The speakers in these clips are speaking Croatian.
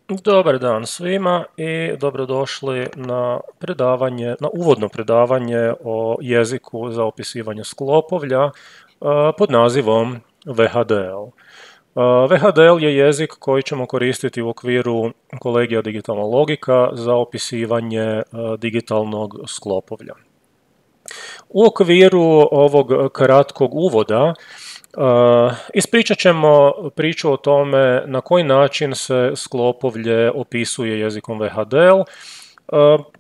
Dobar dan svima i dobrodošli na predavanje, na uvodno predavanje o jeziku za opisivanje sklopovlja pod nazivom VHDL. VHDL je jezik koji ćemo koristiti u okviru kolegija digitalna logika za opisivanje digitalnog sklopovlja. U okviru ovog kratkog uvoda ispričat ćemo priču o tome na koji način se sklopovlje opisuje jezikom VHDL,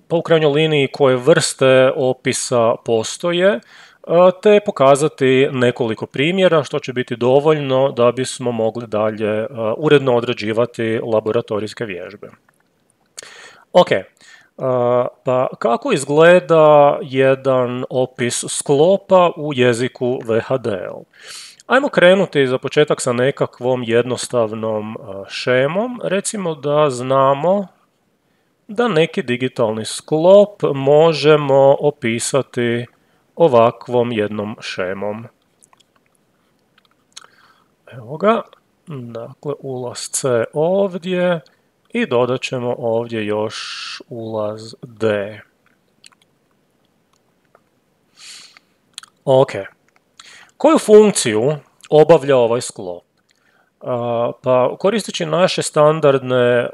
pa u krajnjoj liniji koje vrste opisa postoje, te pokazati nekoliko primjera što će biti dovoljno da bismo mogli dalje uredno odrađivati laboratorijske vježbe. Ok, pa kako izgleda jedan opis sklopa u jeziku VHDL? Ajmo krenuti za početak sa nekakvom jednostavnom šemom. Recimo da znamo da neki digitalni sklop možemo opisati ovakvom jednom šemom. Evo ga, dakle ulaz C ovdje i dodat ćemo ovdje još ulaz D. Ok. Koju funkciju obavlja ovaj sklop? Pa koristeći naše standardne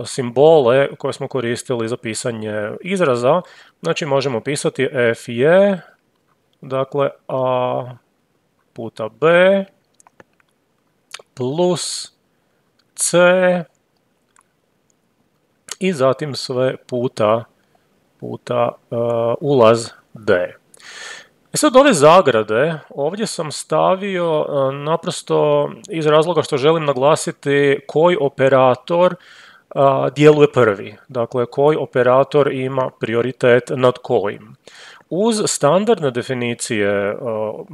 simbole koje smo koristili za pisanje izraza, znači možemo pisati f je, dakle a puta b plus c i zatim sve puta ulaz d. I sad ove zagrade ovdje sam stavio naprosto iz razloga što želim naglasiti koji operator djeluje prvi, dakle koji operator ima prioritet nad kojim. Uz standardne definicije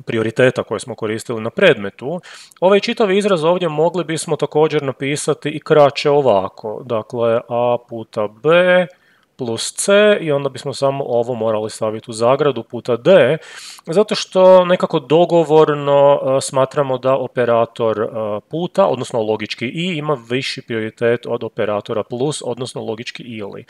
prioriteta koje smo koristili na predmetu, ovaj čitav izraz ovdje mogli bismo također napisati i kraće ovako, dakle a puta b plus c i onda bismo samo ovo morali staviti u zagradu puta d, zato što nekako dogovorno smatramo da operator puta, odnosno logički i, ima viši prioritet od operatora plus, odnosno logički ili.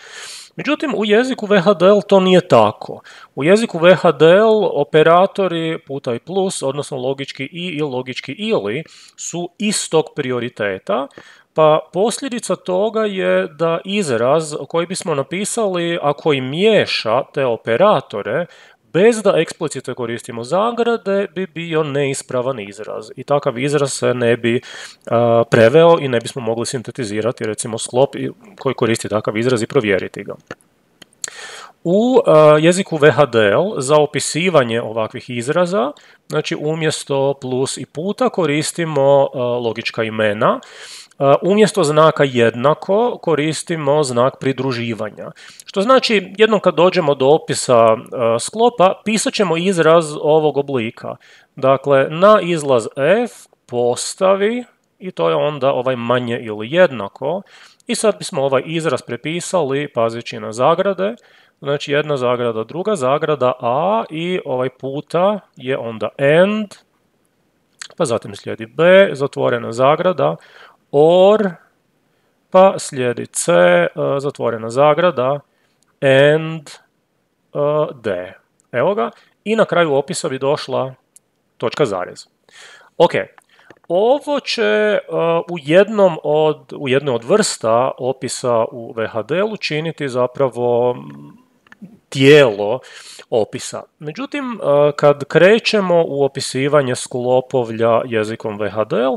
Međutim, u jeziku VHDL to nije tako. U jeziku VHDL operatori puta i plus, odnosno logički i logički ili, su istog prioriteta, pa posljedica toga je da izraz koji bismo napisali, a koji miješa te operatore, bez da eksplicite koristimo zagrade, bi bio neispravan izraz. I takav izraz se ne bi preveo i ne bismo mogli sintetizirati, recimo sklop koji koristi takav izraz i provjeriti ga. U jeziku VHDL za opisivanje ovakvih izraza, znači umjesto plus i puta koristimo logička imena, umjesto znaka jednako koristimo znak pridruživanja. Što znači, jednom kad dođemo do opisa sklopa, pisat ćemo izraz ovog oblika. Dakle, na izlaz f postavi, i to je onda ovaj manje ili jednako, i sad bismo ovaj izraz prepisali pazeći na zagrade, znači jedna zagrada, druga zagrada, a i ovaj puta je onda and, pa zatim slijedi b, zatvorena zagrada, or, pa slijedi c, zatvorena zagrada, and, d. Evo ga. I na kraju opisa bi došla točka zarez. Ok. Ovo će u jednoj od vrsta opisa u VHDL-u činiti zapravo tijelo opisa. Međutim, kad krećemo u opisivanje sklopovlja jezikom VHDL,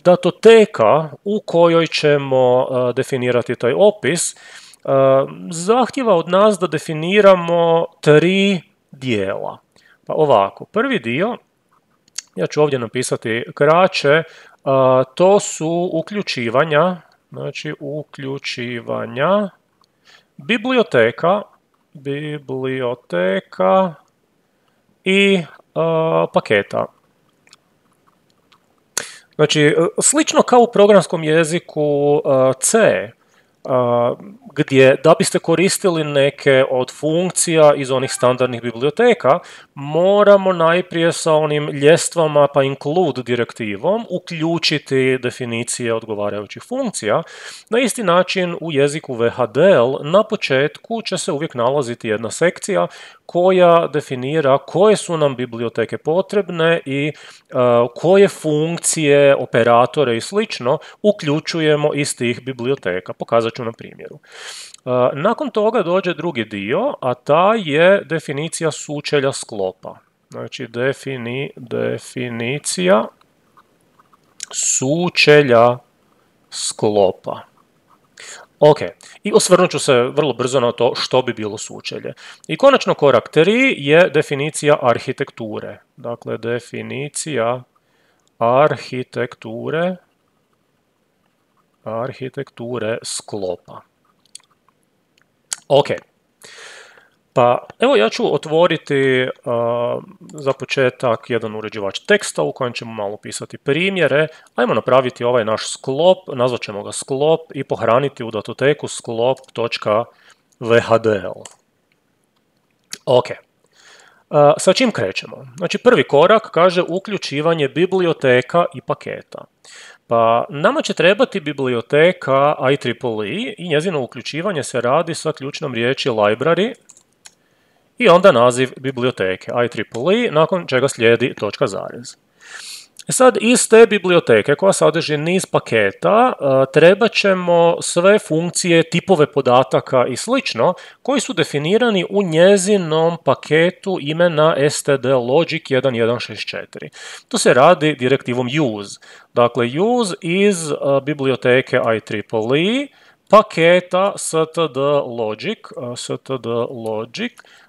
datoteka u kojoj ćemo definirati taj opis zahtjeva od nas da definiramo 3 dijela. Pa ovako, prvi dio, ja ću ovdje napisati kraće, to su uključivanja, znači uključivanja biblioteka i paketa. Znači, slično kao u programskom jeziku C, gdje da biste koristili neke od funkcija iz onih standardnih biblioteka, moramo najprije sa onim ljestvama pa include direktivom uključiti definicije odgovarajućih funkcija. Na isti način u jeziku VHDL na početku će se uvijek nalaziti jedna sekcija koja definira koje su nam biblioteke potrebne i koje funkcije, operatore i slično uključujemo iz tih biblioteka. Pokazat ću na primjeru. Nakon toga dođe drugi dio, a ta je definicija sučelja sklopa. Znači definicija sučelja sklopa. Ok, i osvrnut ću se vrlo brzo na to što bi bilo sučelje. I konačno korak 3 je definicija arhitekture. Dakle, definicija arhitekture sklopa. Ok, pa evo ja ću otvoriti za početak jedan uređivač teksta u kojem ćemo malo pisati primjere. Ajmo napraviti ovaj naš sklop, nazvat ćemo ga sklop i pohraniti u datoteku sklop.vhdl. Ok, sa čim krećemo? Znači prvi korak kaže uključivanje biblioteka i paketa. Pa nama će trebati biblioteka IEEE i njezino uključivanje se radi sa ključnom riječi library i onda naziv biblioteke IEEE, nakon čega slijedi točka zarez. Sad iz te biblioteke koja sadrži niz paketa trebat ćemo sve funkcije, tipove podataka i slično koji su definirani u njezinom paketu imena std logic 1164. To se radi direktivom use. Dakle, use iz biblioteke IEEE paketa std logic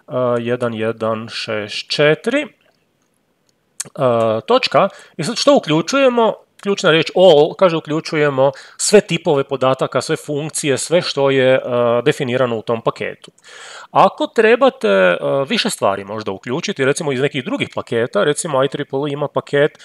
1164 točka. I sad što uključujemo? Ključna riječ all kaže uključujemo sve tipove podataka, sve funkcije, sve što je definirano u tom paketu. Ako trebate više stvari možda uključiti, recimo iz nekih drugih paketa, recimo IEEE ima paket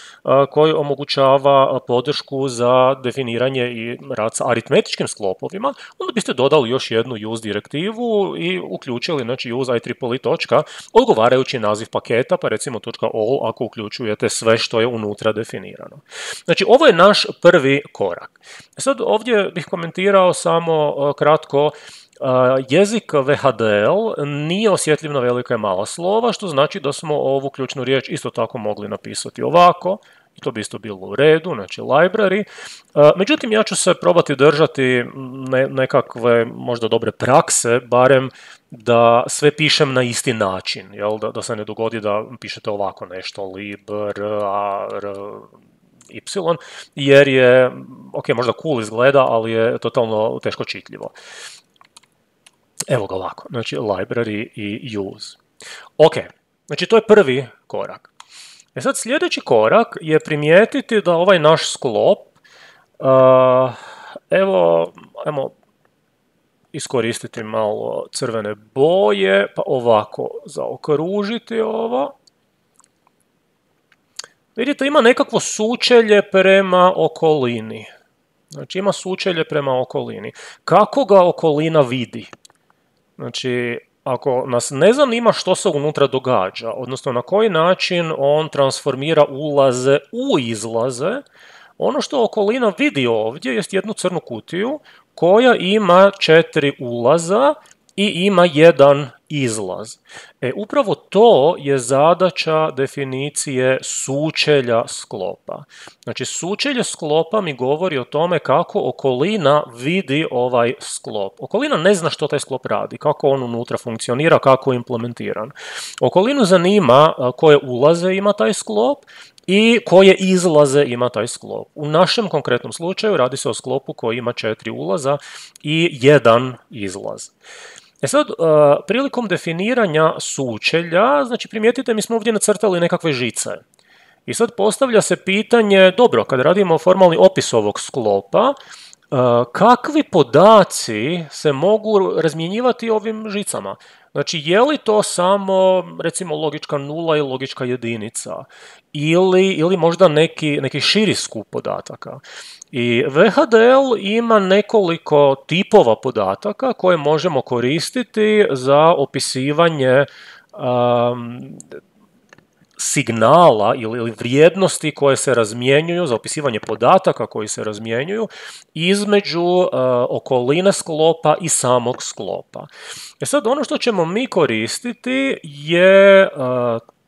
koji omogućava podršku za definiranje i rad sa aritmetičkim sklopovima, onda biste dodali još jednu use direktivu i uključili znači use IEEE točka, odgovarajući naziv paketa, pa recimo .all ako uključujete sve što je unutra definirano. Znači ovo je naš prvi korak. Sad ovdje bih komentirao samo kratko. Jezik VHDL nije osjetljiv na velika i mala slova, što znači da smo ovu ključnu riječ isto tako mogli napisati ovako, i to bi isto bilo u redu, znači library. Međutim, ja ću se probati držati nekakve možda dobre prakse, barem da sve pišem na isti način, jel? Da se ne dogodi da pišete ovako nešto, libr, y, jer je, ok, možda cool izgleda, ali je totalno teško čitljivo. Evo ga ovako, znači library i use. Ok, znači to je prvi korak. Sad sljedeći korak je primijetiti da ovaj naš sklop, ajmo iskoristiti malo crvene boje, pa ovako zaokružiti ovo. Vidite, ima nekakvo sučelje prema okolini. Znači ima sučelje prema okolini. Kako ga okolina vidi? Znači, ako nas ne zanima što se unutra događa, odnosno na koji način on transformira ulaze u izlaze, ono što okolina vidi ovdje jest jednu crnu kutiju koja ima 4 ulaza i ima 1 izlaz. Upravo to je zadaća definicije sučelja sklopa. Znači, sučelje sklopa mi govori o tome kako okolina vidi ovaj sklop. Okolina ne zna što taj sklop radi, kako on unutra funkcionira, kako je implementiran. Okolinu zanima koje ulaze ima taj sklop i koje izlaze ima taj sklop. U našem konkretnom slučaju radi se o sklopu koji ima 4 ulaza i 1 izlaz. Sad, prilikom definiranja sučelja, znači primijetite, mi smo ovdje nacrtali nekakve žice. I sad postavlja se pitanje, dobro, kad radimo formalni opis ovog sklopa, kakvi podaci se mogu razmjenjivati ovim žicama. Znači, je li to samo, recimo, logička nula i logička jedinica ili možda neki širi skup podataka. I VHDL ima nekoliko tipova podataka koje možemo koristiti za opisivanje signala ili vrijednosti koje se razmjenjuju, za opisivanje podataka koji se razmjenjuju između okoline sklopa i samog sklopa. Sad, ono što ćemo mi koristiti je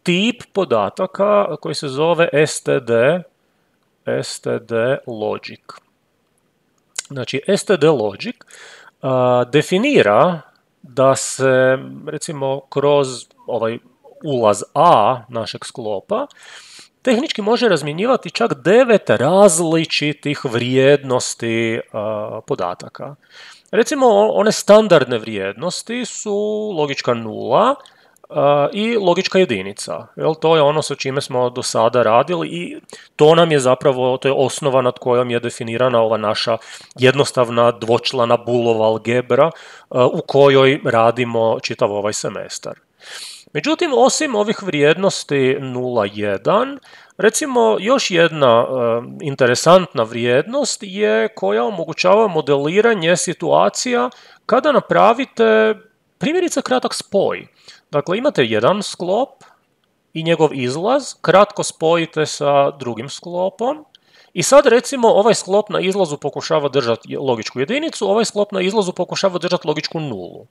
tip podataka koji se zove STD logic. Znači, STD logic definira da se, recimo, kroz ovaj ulaz A našeg sklopa tehnički može razmjenjivati čak 9 različitih vrijednosti podataka. Recimo, one standardne vrijednosti su logička nula i logička jedinica. To je ono sa čime smo do sada radili i to nam je zapravo, to je osnova nad kojom je definirana ova naša jednostavna dvočlana Boolova algebra u kojoj radimo čitav ovaj semestar. Međutim, osim ovih vrijednosti 0, 1, recimo još jedna interesantna vrijednost je koja omogućava modeliranje situacija kada napravite primjerice kratak spoj. Dakle, imate jedan sklop i njegov izlaz, kratko spojite sa drugim sklopom i sad recimo ovaj sklop na izlazu pokušava držati logičku jedinicu, ovaj sklop na izlazu pokušava držati logičku nulu.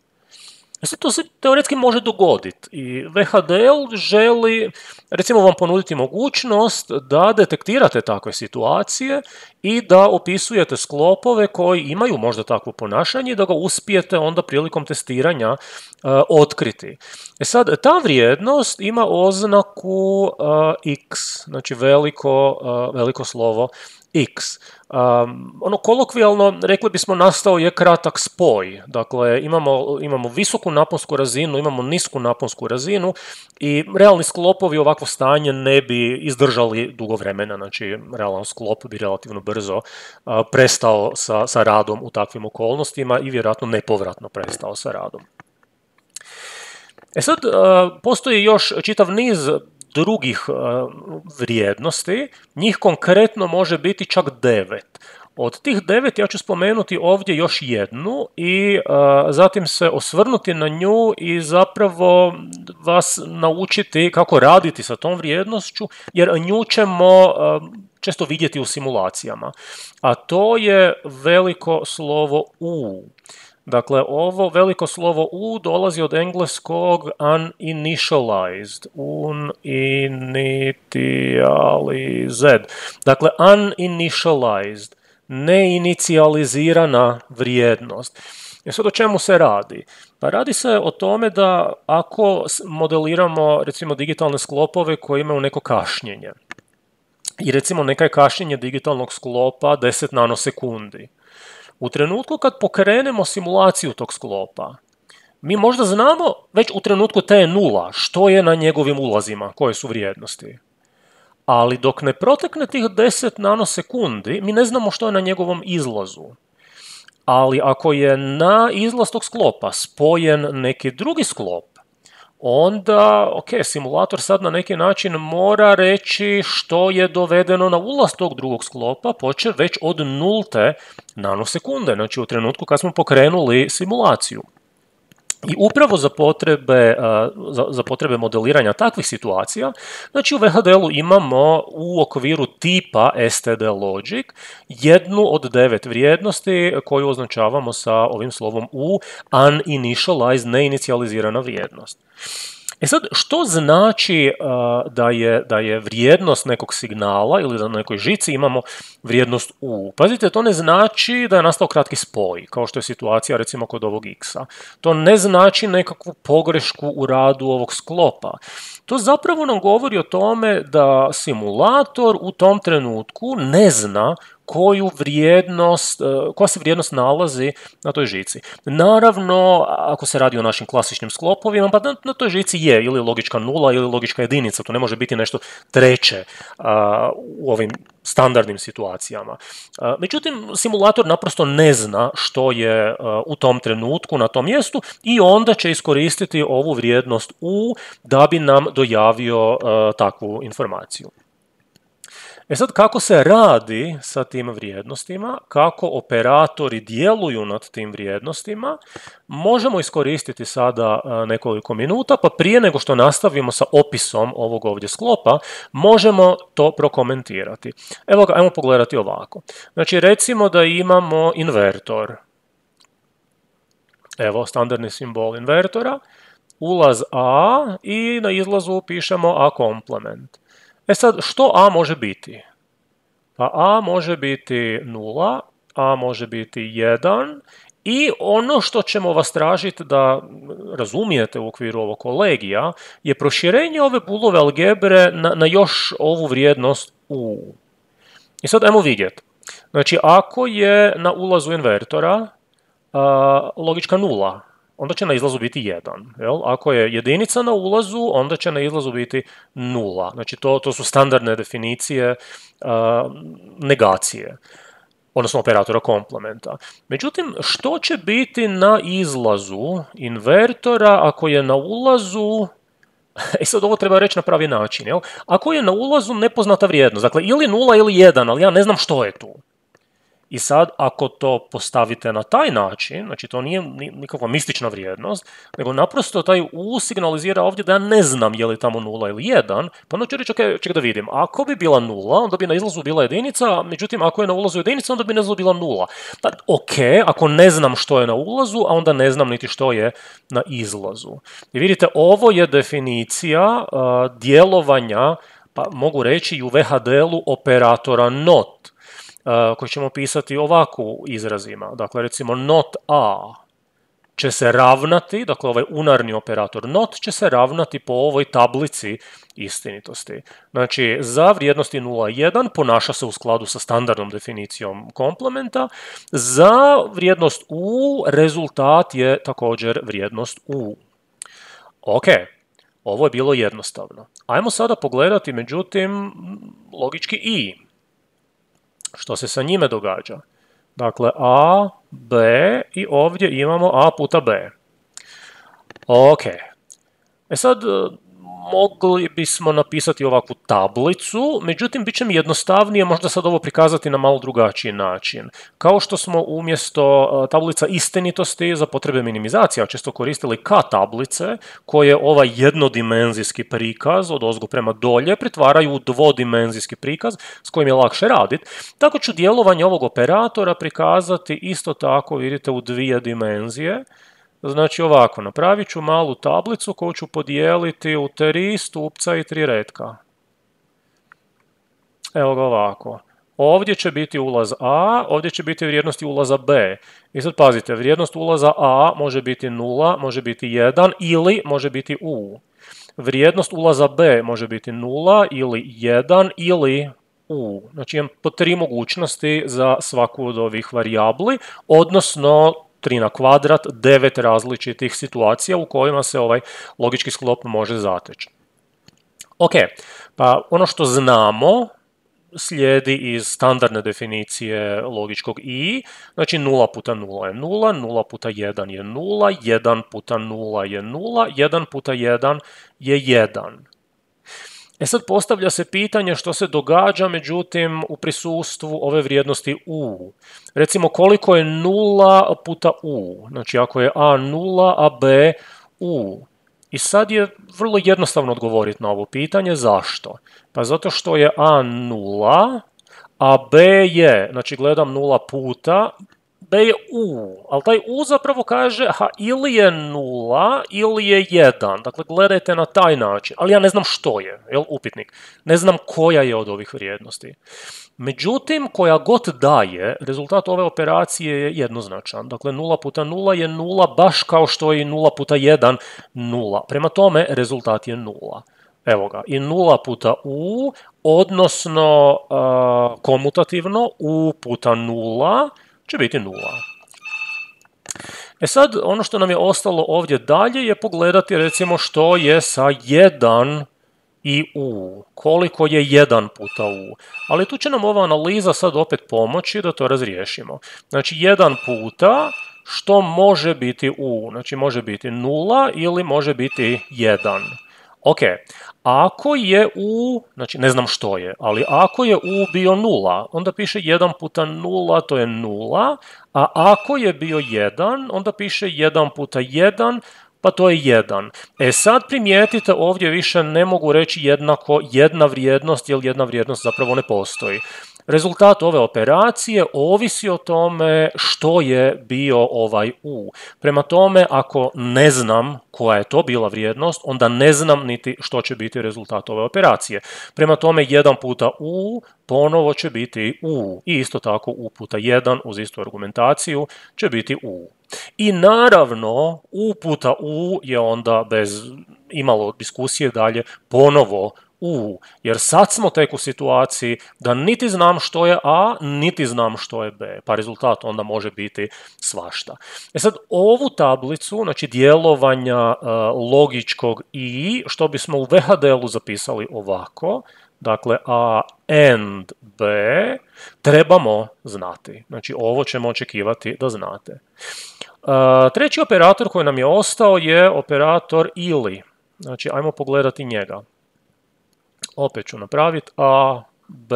To se teoretski može dogoditi i VHDL želi, recimo, vam ponuditi mogućnost da detektirate takve situacije i da opisujete sklopove koji imaju možda takvo ponašanje i da ga uspijete onda prilikom testiranja otkriti. Sad, ta vrijednost ima oznaku x, znači veliko slovo x. Kolokvijalno rekli bismo nastao je kratak spoj. Dakle, imamo visoku naponsku razinu, imamo nisku naponsku razinu i realni sklopovi ovakvo stanje ne bi izdržali dugo vremena. Znači, realan sklop bi relativno brzo prestao sa radom u takvim okolnostima i vjerojatno nepovratno prestao sa radom. Sad, postoji još čitav niz drugih vrijednosti, njih konkretno može biti čak 9. Od tih 9 ja ću spomenuti ovdje još jednu i zatim se osvrnuti na nju i zapravo vas naučiti kako raditi sa tom vrijednošću, jer nju ćemo često vidjeti u simulacijama. A to je veliko slovo U. Dakle, ovo veliko slovo U dolazi od engleskog uninitialized, uninitialized. Dakle, uninitialized, neinicijalizirana vrijednost. I sad o čemu se radi? Pa radi se o tome da ako modeliramo, recimo, digitalne sklopove koji imaju neko kašnjenje, i recimo neka je kašnjenje digitalnog sklopa 10 nanosekundi, u trenutku kad pokrenemo simulaciju tog sklopa, mi možda znamo već u trenutku T0 što je na njegovim ulazima, koje su vrijednosti. Ali dok ne protekne tih 10 nanosekundi, mi ne znamo što je na njegovom izlazu. Ali ako je na izlaz tog sklopa spojen neki drugi sklop, onda, simulator sad na neki način mora reći što je dovedeno na ulaz tog drugog sklopa, počev već od 0 nanosekunde, znači u trenutku kad smo pokrenuli simulaciju. I upravo za potrebe modeliranja takvih situacija, znači u VHDL-u imamo u okviru tipa STD logic jednu od 9 vrijednosti koju označavamo sa ovim slovom U, uninitialized, neinicijalizirana vrijednost. Sad, što znači da je vrijednost nekog signala ili da na nekoj žici imamo vrijednost U? Pazite, to ne znači da je nastao kratki spoj, kao što je situacija recimo kod ovog x-a. To ne znači nekakvu pogrešku u radu ovog sklopa. To zapravo nam govori o tome da simulator u tom trenutku ne zna koja se vrijednost nalazi na toj žici. Naravno, ako se radi o našim klasičnim sklopovima, pa na toj žici je ili logička nula ili logička jedinica, to ne može biti nešto treće u ovim standardnim situacijama. Međutim, simulator naprosto ne zna što je u tom trenutku na tom mjestu i onda će iskoristiti ovu vrijednost u da bi nam dojavio takvu informaciju. E sad, kako se radi sa tim vrijednostima, kako operatori djeluju nad tim vrijednostima, možemo iskoristiti sada nekoliko minuta, pa prije nego što nastavimo sa opisom ovog ovdje sklopa, možemo to prokomentirati. Evo ga, ajmo pogledati ovako. Znači, recimo da imamo invertor. Evo, standardni simbol invertora, ulaz A i na izlazu pišemo A komplement. E sad, što A može biti? Pa A može biti 0, A može biti 1 i ono što ćemo vas tražiti da razumijete u okviru ovog kolegija je proširenje ove Boolove algebre na još ovu vrijednost U. I sad ajmo vidjeti. Znači, ako je na ulazu invertora logička 0, onda će na izlazu biti 1. Jel? Ako je jedinica na ulazu, onda će na izlazu biti 0. Znači, to su standardne definicije negacije, odnosno operatora komplementa. Međutim, što će biti na izlazu invertora ako je na ulazu... I sad ovo treba reći na pravi način. Jel? Ako je na ulazu nepoznata vrijednost, dakle ili 0 ili 1, ali ja ne znam što je tu. I sad, ako to postavite na taj način, znači to nije nikakva mistična vrijednost, nego naprosto taj U signalizira ovdje da ja ne znam je li tamo 0 ili 1, pa onda ću reći, čekaj da vidim, ako bi bila 0, onda bi na izlazu bila jedinica, međutim, ako je na ulazu jedinica, onda bi na izlazu bila 0. Pa, ok, ako ne znam što je na ulazu, a onda ne znam niti što je na izlazu. I vidite, ovo je definicija djelovanja, pa mogu reći i u VHDL-u operatora NOT, koji ćemo pisati ovako u izrazima. Dakle, recimo not A će se ravnati, dakle ovaj unarni operator not će se ravnati po ovoj tablici istinitosti. Znači, za vrijednosti 0 i 1 ponaša se u skladu sa standardnom definicijom komplementa, za vrijednost U rezultat je također vrijednost U. Ok, ovo je bilo jednostavno. Ajmo sada pogledati, međutim, logički I. Što se sa njime događa? Dakle, A, B i ovdje imamo A puta B. Ok. E sad, mogli bismo napisati ovakvu tablicu, međutim, bit će mi jednostavnije možda sad ovo prikazati na malo drugačiji način. Kao što smo umjesto tablica istinitosti za potrebe minimizacija često koristili K tablice, koje ovaj jednodimenzijski prikaz od ozgo prema dolje pretvaraju u dvodimenzijski prikaz s kojim je lakše raditi. Tako ću djelovanje ovog operatora prikazati isto tako, vidite, u dvije dimenzije. Znači ovako, napravit ću malu tablicu koju ću podijeliti u 3 stupca i 3 retka. Evo ga ovako. Ovdje će biti ulaz A, ovdje će biti vrijednosti ulaza B. I sad pazite, vrijednost ulaza A može biti 0, može biti 1 ili može biti U. Vrijednost ulaza B može biti 0 ili 1 ili U. Znači imam po 3 mogućnosti za svaku od ovih varijabli, odnosno 3 na kvadrat, 9 različitih situacija u kojima se ovaj logički sklop može zateći. Ok, pa ono što znamo slijedi iz standardne definicije logičkog I, znači 0 puta 0 je 0, 0 puta 1 je 0, 1 puta 0 je 0, 1 puta 1 je 1. E sad postavlja se pitanje što se događa, međutim, u prisustvu ove vrijednosti U. Recimo koliko je 0 puta U, znači ako je A 0, a B U. I sad je vrlo jednostavno odgovoriti na ovo pitanje. Zašto? Pa zato što je A 0, a B je, znači gledam 0 puta, B je U, ali taj U zapravo kaže ili je 0 ili je 1, dakle gledajte na taj način, ali ja ne znam što je, jel, upitnik, ne znam koja je od ovih vrijednosti. Međutim, koja god daje, rezultat ove operacije je jednoznačan, dakle 0 puta 0 je 0, baš kao što je i 0 puta 1 0, prema tome rezultat je 0. Evo ga, i 0 puta u, odnosno komutativno u puta 0 će biti 0. E sad, ono što nam je ostalo ovdje dalje je pogledati recimo što je sa 1 i u, koliko je 1 puta u. Ali tu će nam ova analiza sad opet pomoći da to razriješimo. Znači 1 puta što može biti u, znači može biti 0 ili može biti 1. Ok, ako je u, znači ne znam što je, ali ako je u bio 0, onda piše 1 puta 0, to je 0, a ako je bio 1, onda piše 1 puta 1, pa to je 1. E sad primijetite, ovdje više ne mogu reći jednako jedna vrijednost, jer jedna vrijednost zapravo ne postoji. Rezultat ove operacije ovisi o tome što je bio ovaj u. Prema tome, ako ne znam koja je to bila vrijednost, onda ne znam niti što će biti rezultat ove operacije. Prema tome, 1 puta u ponovo će biti u. I isto tako u puta 1 uz istu argumentaciju će biti u. I naravno, u puta u je onda bez imalo diskusije dalje ponovo u, jer sad smo tek u situaciji da niti znam što je a, niti znam što je b, pa rezultat onda može biti svašta. E sad, ovu tablicu, znači djelovanja logičkog i, što bismo u VHDL-u zapisali ovako, dakle a and b, trebamo znati. Znači, ovo ćemo očekivati da znate. Treći operator koji nam je ostao je operator ili. Znači, ajmo pogledati njega. Opet ću napraviti a, b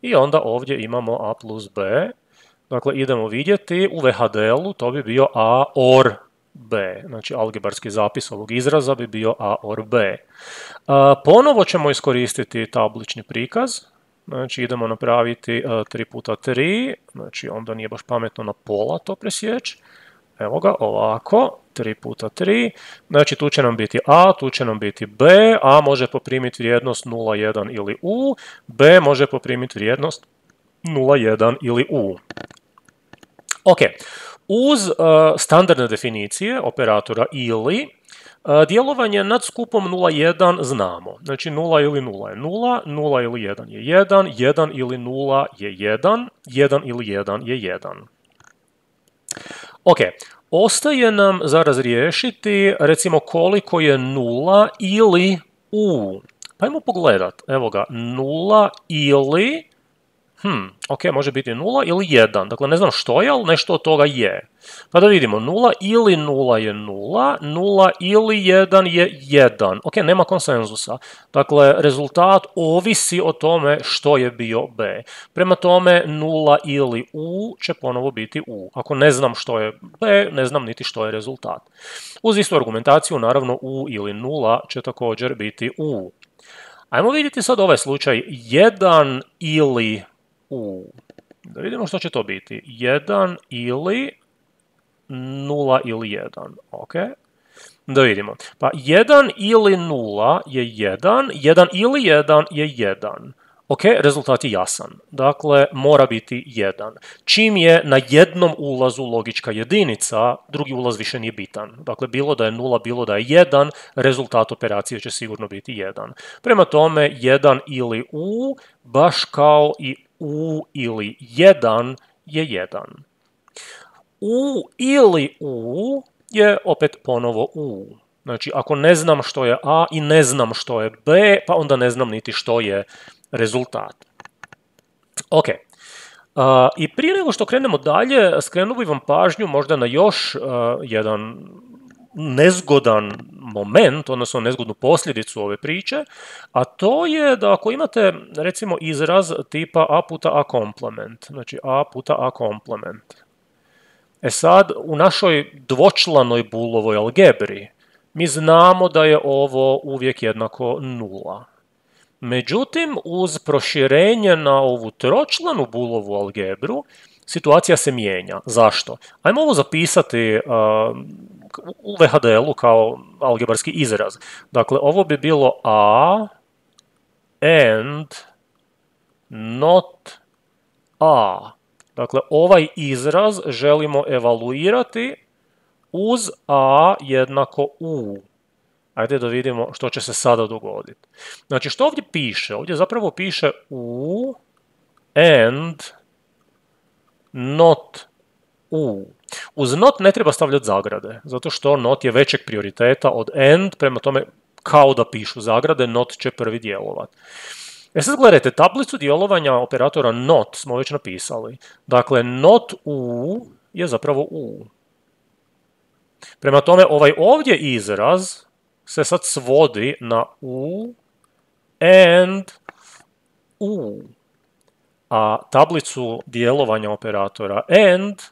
i onda ovdje imamo a plus b. Dakle, idemo vidjeti u VHDL-u to bi bio a or b. Znači, algebarski zapis ovog izraza bi bio a or b. Ponovo ćemo iskoristiti tablični prikaz. Znači, idemo napraviti 3 puta 3. Znači, onda nije baš pametno na pola to presjeći. Evo ga, ovako, 3 puta 3, znači tu će nam biti a, tu će nam biti b, a može poprimiti vrijednost 0, 1 ili u, b može poprimiti vrijednost 0, 1 ili u. Ok, uz standardne definicije operatora ili, djelovanje nad skupom 0, 1 znamo. Znači 0 ili 0 je 0, 0 ili 1 je 1, 1 ili 0 je 1, 1 ili 1 je 1. Ok, ostaje nam za razriješiti recimo koliko je 0 ili u. Pa ajmo pogledat, evo ga, 0 ili, ok, može biti 0 ili 1, dakle ne znam što je, ali nešto od toga je. Pa da vidimo, 0 ili 0 je 0, 0 ili 1 je 1, ok, nema konsenzusa. Dakle, rezultat ovisi o tome što je bio b. Prema tome, 0 ili u će ponovo biti u. Ako ne znam što je b, ne znam niti što je rezultat. Uz istu argumentaciju, naravno, u ili 0 će također biti u. Ajmo vidjeti sad ovaj slučaj 1 ili u. Da vidimo što će to biti. 1 ili 0 ili 1. Ok. Da vidimo. Pa 1 ili 0 je 1. 1 ili 1 je 1. Ok, rezultat je jasan. Dakle, mora biti 1. Čim je na jednom ulazu logička jedinica, drugi ulaz više nije bitan. Dakle, bilo da je 0, bilo da je 1, rezultat operacije će sigurno biti 1. Prema tome, 1 ili u, baš kao i u ili 1 je 1. U ili u je opet ponovo u. Znači, ako ne znam što je a i ne znam što je b, pa onda ne znam niti što je rezultat. Ok. I prije nego što krenemo dalje, skrenuo bih vam pažnju možda na još jedan nezgodan moment, odnosno nezgodnu posljedicu ove priče, a to je da ako imate recimo izraz tipa a puta a komplement, znači a puta a komplement. E sad, u našoj dvočlanoj Booleovoj algebri mi znamo da je ovo uvijek jednako 0. Međutim, uz proširenje na ovu tročlanu Booleovu algebru, situacija se mijenja. Zašto? Ajmo ovo zapisati u VHDL-u kao algebarski izraz. Dakle, ovo bi bilo a and not a. Dakle, ovaj izraz želimo evaluirati uz a jednako u. Ajde da vidimo što će se sada dogoditi. Znači, što ovdje piše? Ovdje zapravo piše u and not u. Uz not ne treba stavljati zagrade, zato što not je većeg prioriteta od and, prema tome kao da pišu zagrade, not će prvi djelovati. Sad gledajte, tablicu djelovanja operatora not smo već napisali. Dakle, not u je zapravo u. Prema tome, ovaj ovdje izraz se sad svodi na u and u. A tablicu djelovanja operatora and,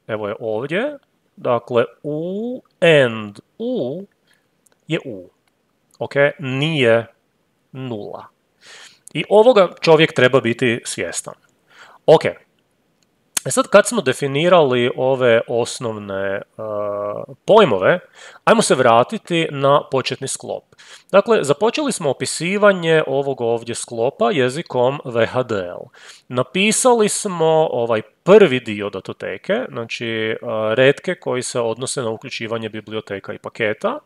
evo je ovdje, dakle u and u je u. Ok, nije nula. I ovoga čovjek treba biti svjestan. Ok, sad kad smo definirali ove osnovne pojmove, ajmo se vratiti na početni sklop. Dakle, započeli smo opisivanje ovog ovdje sklopa jezikom VHDL. Napisali smo ovaj prvi dio datoteke, znači retke koji se odnose na uključivanje biblioteka i paketa.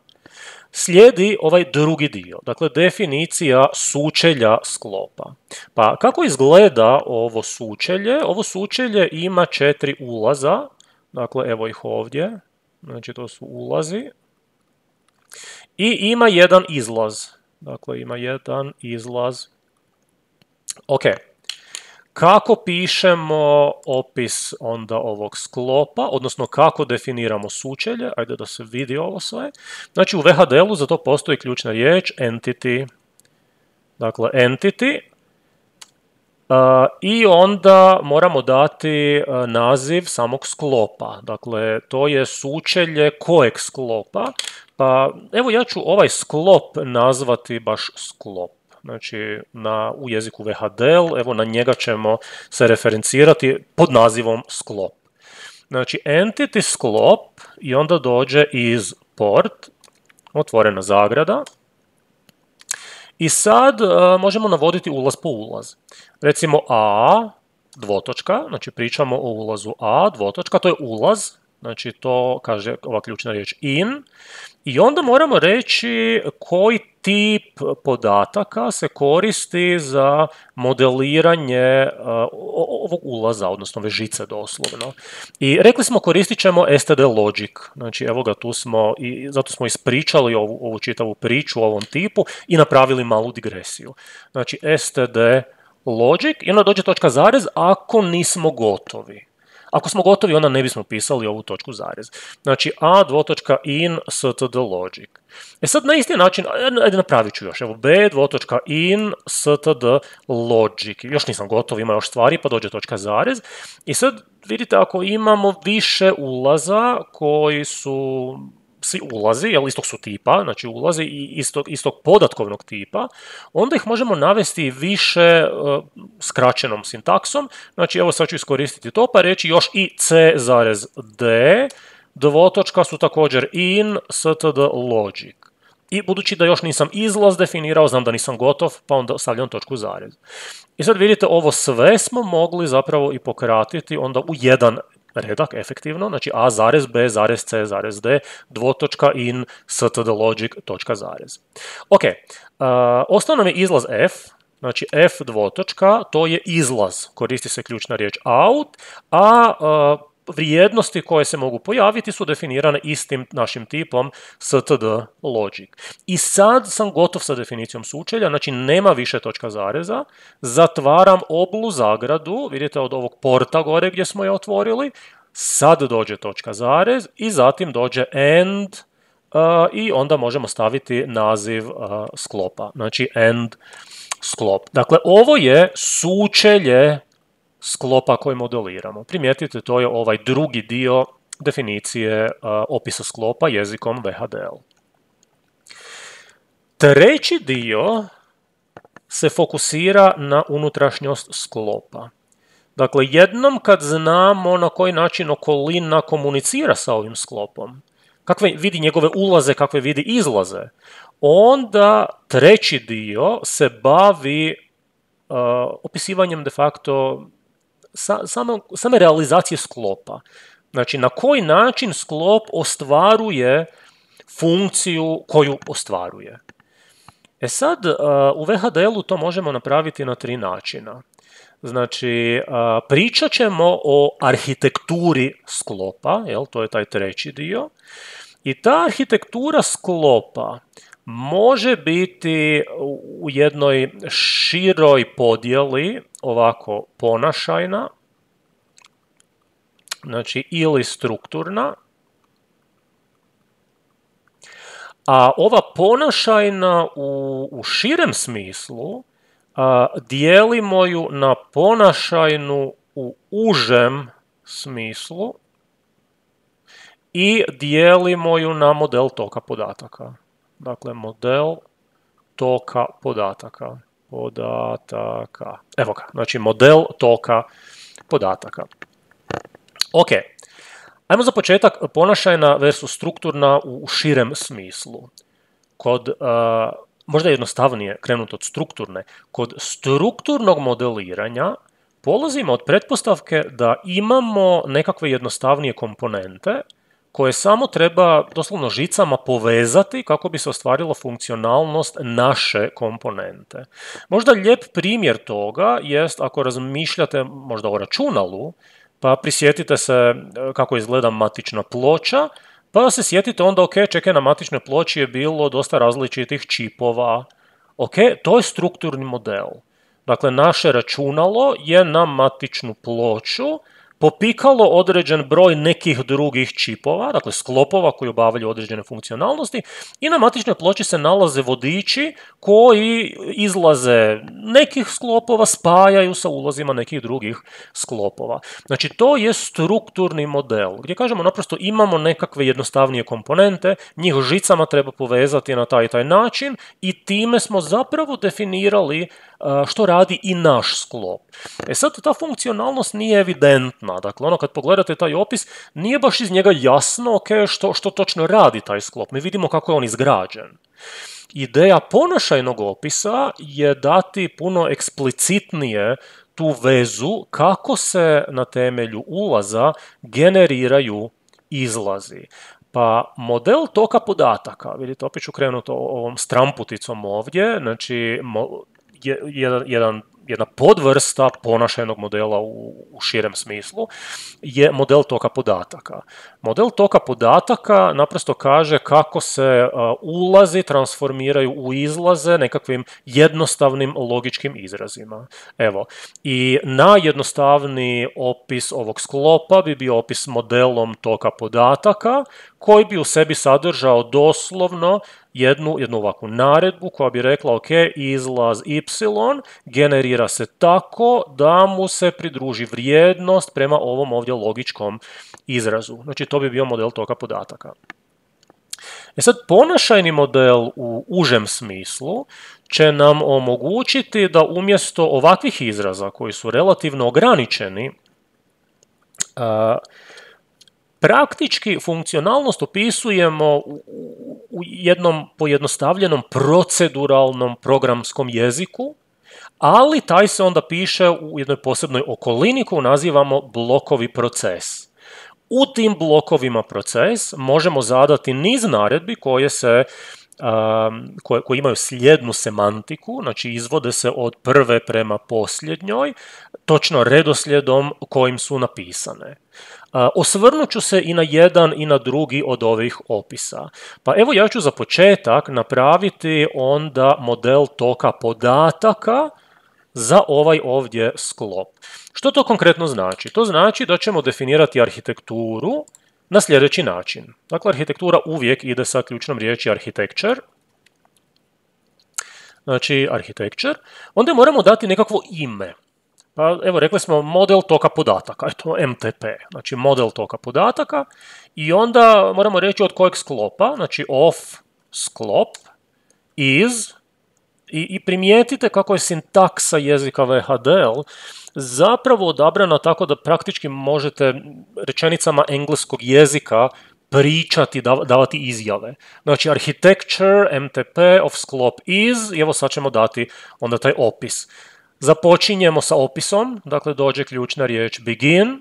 Slijedi ovaj drugi dio, dakle definicija sučelja sklopa. Pa kako izgleda ovo sučelje? Ovo sučelje ima 4 ulaza, dakle evo ih ovdje, znači to su ulazi. I ima jedan izlaz, dakle ima jedan izlaz. Ok, kako pišemo opis onda ovog sklopa, odnosno kako definiramo sučelje, ajde da se vidi ovo sve. Znači u VHDL-u za to postoji ključna riječ entity, dakle entity, i onda moramo dati naziv samog sklopa, dakle to je sučelje kojeg sklopa, pa evo ja ću ovaj sklop nazvati baš sklop. Znači, u jeziku VHDL, evo na njega ćemo se referencirati pod nazivom sklop. Znači, entity sklop i onda dođe iz port, otvorena zagrada. I sad možemo navoditi ulaz po ulaz. Recimo A, dvotočka, znači pričamo o ulazu A, dvotočka, to je ulaz, znači to kaže ova ključna riječ in. I onda moramo reći koji tip podataka se koristi za modeliranje ovog ulaza, odnosno ove žice doslovno. I rekli smo koristit ćemo std logic, znači evo ga tu smo, i zato smo ispričali ovu čitavu priču o ovom tipu i napravili malu digresiju. Znači std logic i onda dođe točka zarez ako nismo gotovi. Ako smo gotovi, onda ne bismo pisali ovu točku zarez. Znači, a dvotočka in std logic. Sad na isti način, ajde napravit ću još. Evo, b dvotočka in std logic. Još nisam gotov, ima još stvari, pa dođe točka zarez. I sad vidite, ako imamo više ulaza koji su svi ulazi, jel, istog su tipa, znači ulazi i istog podatkovnog tipa, onda ih možemo navesti više skraćenom sintaksom. Znači, evo sad ću iskoristiti to, pa reći još i c zarez d, dvotočka su također in std logic. I budući da još nisam izlaz definirao, znam da nisam gotov, pa onda stavljam točku zarez. I sad vidite, ovo sve smo mogli zapravo i pokratiti onda u jedan redak efektivno, znači a zarez b zarez c zarez d, dvotočka in std logic točka zarez. Ok, ostao nam je izlaz f, znači f dvotočka, to je izlaz, koristi se ključna riječ out, a vrijednosti koje se mogu pojaviti su definirane istim našim tipom std logic. I sad sam gotov sa definicijom sučelja, znači nema više točka zareza, zatvaram oblu zagradu, vidite od ovog porta gore gdje smo je otvorili, sad dođe točka zarez i zatim dođe end i onda možemo staviti naziv sklopa, znači end sklop. Dakle, ovo je sučelje sklopa koji modeliramo. Primijetite, to je ovaj drugi dio definicije opisa sklopa jezikom VHDL. Treći dio se fokusira na unutrašnjost sklopa. Dakle, jednom kad znamo na koji način okolina komunicira sa ovim sklopom, kakve vidi njegove ulaze, kakve vidi izlaze, onda treći dio se bavi opisivanjem de facto same realizacije sklopa. Znači, na koji način sklop ostvaruje funkciju koju ostvaruje. E sad, u VHDL-u to možemo napraviti na 3 načina. Znači, pričat ćemo o arhitekturi sklopa, jel, to je taj treći dio, i ta arhitektura sklopa može biti u jednoj široj podjeli, ovako ponašajna, znači ili strukturna, a ova ponašajna u širem smislu dijelimo ju na ponašajnu u užem smislu i dijelimo ju na model toka podataka. Dakle, model toka podataka. Evo ga, znači model toka podataka. Ok, ajmo za početak ponašajna versus strukturna u širem smislu. Kod, možda je jednostavnije krenuti od strukturne, kod strukturnog modeliranja polazimo od pretpostavke da imamo nekakve jednostavnije komponente koje samo treba doslovno žicama povezati kako bi se ostvarila funkcionalnost naše komponente. Možda lijep primjer toga jest ako razmišljate možda o računalu, pa prisjetite se kako izgleda matična ploča, pa se sjetite onda, ok, čekaj, na matičnoj ploči je bilo dosta različitih čipova. Ok, to je strukturni model. Dakle, naše računalo je na matičnu ploču popikalo određen broj nekih drugih čipova, dakle sklopova koji obavljaju određene funkcionalnosti, i na matičnoj ploči se nalaze vodiči koji izlaze nekih sklopova, spajaju sa ulazima nekih drugih sklopova. Znači to je strukturni model, gdje kažemo naprosto imamo nekakve jednostavnije komponente, njih žicama treba povezati na taj i taj način i time smo zapravo definirali što radi i naš sklop. E sad, ta funkcionalnost nije evidentna. Dakle, ono kad pogledate taj opis, nije baš iz njega jasno što točno radi taj sklop. Mi vidimo kako je on izgrađen. Ideja ponašajnog opisa je dati puno eksplicitnije tu vezu kako se na temelju ulaza generiraju izlazi. Pa model toka podataka, vidite, opet ću krenuti ovom stramputicom ovdje, znači jedna podvrsta ponašajnog modela u širem smislu je model toka podataka. Model toka podataka naprosto kaže kako se ulazi transformiraju u izlaze nekakvim jednostavnim logičkim izrazima. Evo, i najjednostavniji opis ovog sklopa bi bio opis modelom toka podataka koji bi u sebi sadržao doslovno jednu ovakvu naredbu koja bi rekla ok, izlaz y generira se tako da mu se pridruži vrijednost prema ovom ovdje logičkom izrazu. Znači to bi bio model toka podataka. E sad, ponašajni model u užem smislu će nam omogućiti da umjesto ovakvih izraza koji su relativno ograničeni, praktički funkcionalnost opisujemo u jednom pojednostavljenom proceduralnom programskom jeziku, ali taj se onda piše u jednoj posebnoj okolini koju nazivamo blokovi proces. U tim blokovima proces možemo zadati niz naredbi koje imaju slijednu semantiku, znači izvode se od prve prema posljednjoj, točno redoslijedom kojim su napisane. Osvrnut ću se i na jedan i na drugi od ovih opisa. Pa evo ja ću za početak napraviti onda model toka podataka za ovaj ovdje sklop. Što to konkretno znači? To znači da ćemo definirati arhitekturu na sljedeći način. Dakle, arhitektura uvijek ide sa ključnom riječi architecture. Znači, architecture. Onda moramo dati nekakvo ime. Pa evo, rekli smo model toka podataka, eto MTP, znači model toka podataka, i onda moramo reći od kojeg sklopa, znači of sklop is, i primijetite kako je sintaksa jezika VHDL zapravo odabrana tako da praktički možete rečenicama engleskog jezika pričati, davati izjave. Znači architecture MTP of sklop is, i evo sad ćemo dati onda taj opis. Započinjemo sa opisom, dakle dođe ključna riječ begin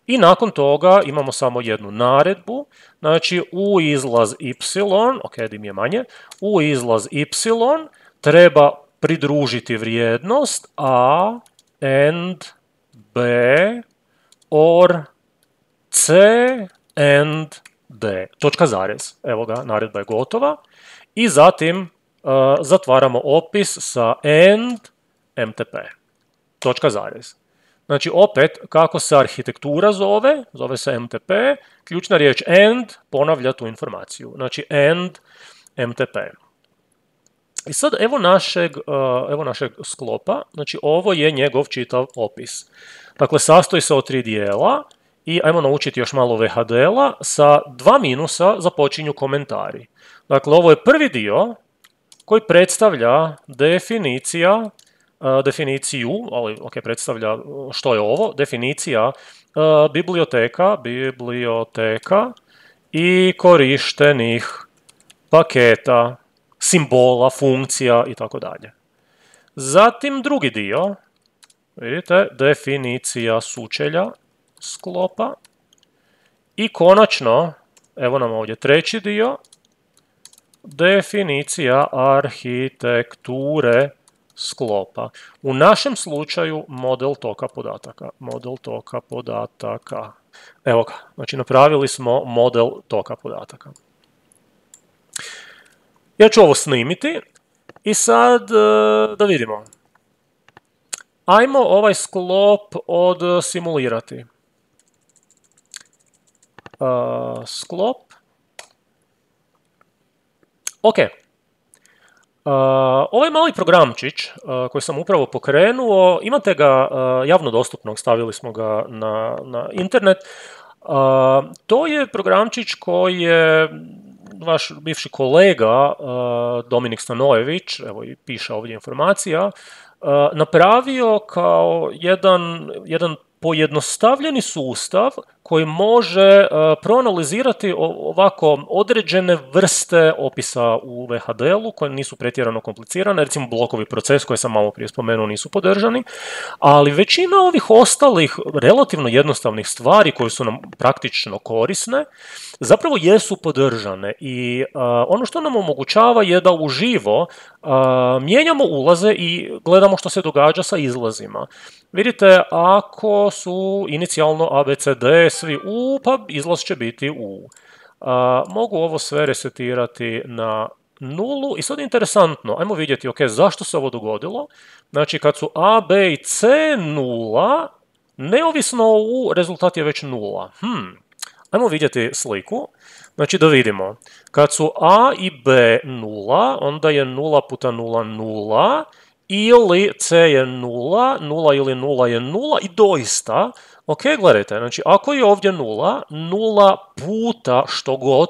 i nakon toga imamo samo jednu naredbu Znači, u izlaz y, ok, dim je manje, u izlaz y treba pridružiti vrijednost a and b or c and d. Točka zarez. Evo ga, naredba je gotova. I zatim zatvaramo opis sa and mtp. Točka zarez. Znači, opet, kako se arhitektura zove se MTP, ključna riječ and ponavlja tu informaciju. Znači, and MTP. I sad, evo našeg sklopa, znači, ovo je njegov čitav opis. Dakle, sastoji se od 3 dijela i ajmo naučiti još malo VHDL-a, sa 2 minusa započinju komentari. Dakle, ovo je prvi dio koji predstavlja definiciju, ali ok, predstavlja što je ovo, definicija biblioteka i korištenih paketa, simbola, funkcija i tako dalje. Zatim drugi dio, vidite, definicija sučelja sklopa i konačno, evo nam ovdje treći dio, definicija arhitekture sklopa. U našem slučaju model toka podataka. Evo ga, znači napravili smo model toka podataka. Ja ću ovo snimiti i sad da vidimo. Ajmo ovaj sklop odsimulirati. Sklop. Ok. Ovaj mali programčić koji sam upravo pokrenuo, imate ga javno dostupnog, stavili smo ga na internet. To je programčić koji je vaš bivši kolega Dominik Stanojević, evo i piše ovdje informacija, napravio kao jedan pojednostavljeni sustav koji može proanalizirati ovako određene vrste opisa u VHDL-u koje nisu pretjerano komplicirane, recimo blokovi proces koje sam malo prije spomenuo nisu podržani, ali većina ovih ostalih relativno jednostavnih stvari koje su nam praktično korisne zapravo jesu podržane i ono što nam omogućava je da uživo mijenjamo ulaze i gledamo što se događa sa izlazima. Vidite, ako su inicijalno ABCD svi U, pa izlaz će biti U. Mogu ovo sve resetirati na nulu i sad je interesantno, ajmo vidjeti, ok, zašto se ovo dogodilo? Znači, kad su A, B i C nula, neovisno o U, rezultat je već nula. Ajmo vidjeti sliku. Znači, da vidimo. Kad su A i B nula, onda je 0 puta 0 nula, ili C je 0, 0 ili 0 je 0 i doista, ok, gledajte, znači ako je ovdje 0, 0 puta što god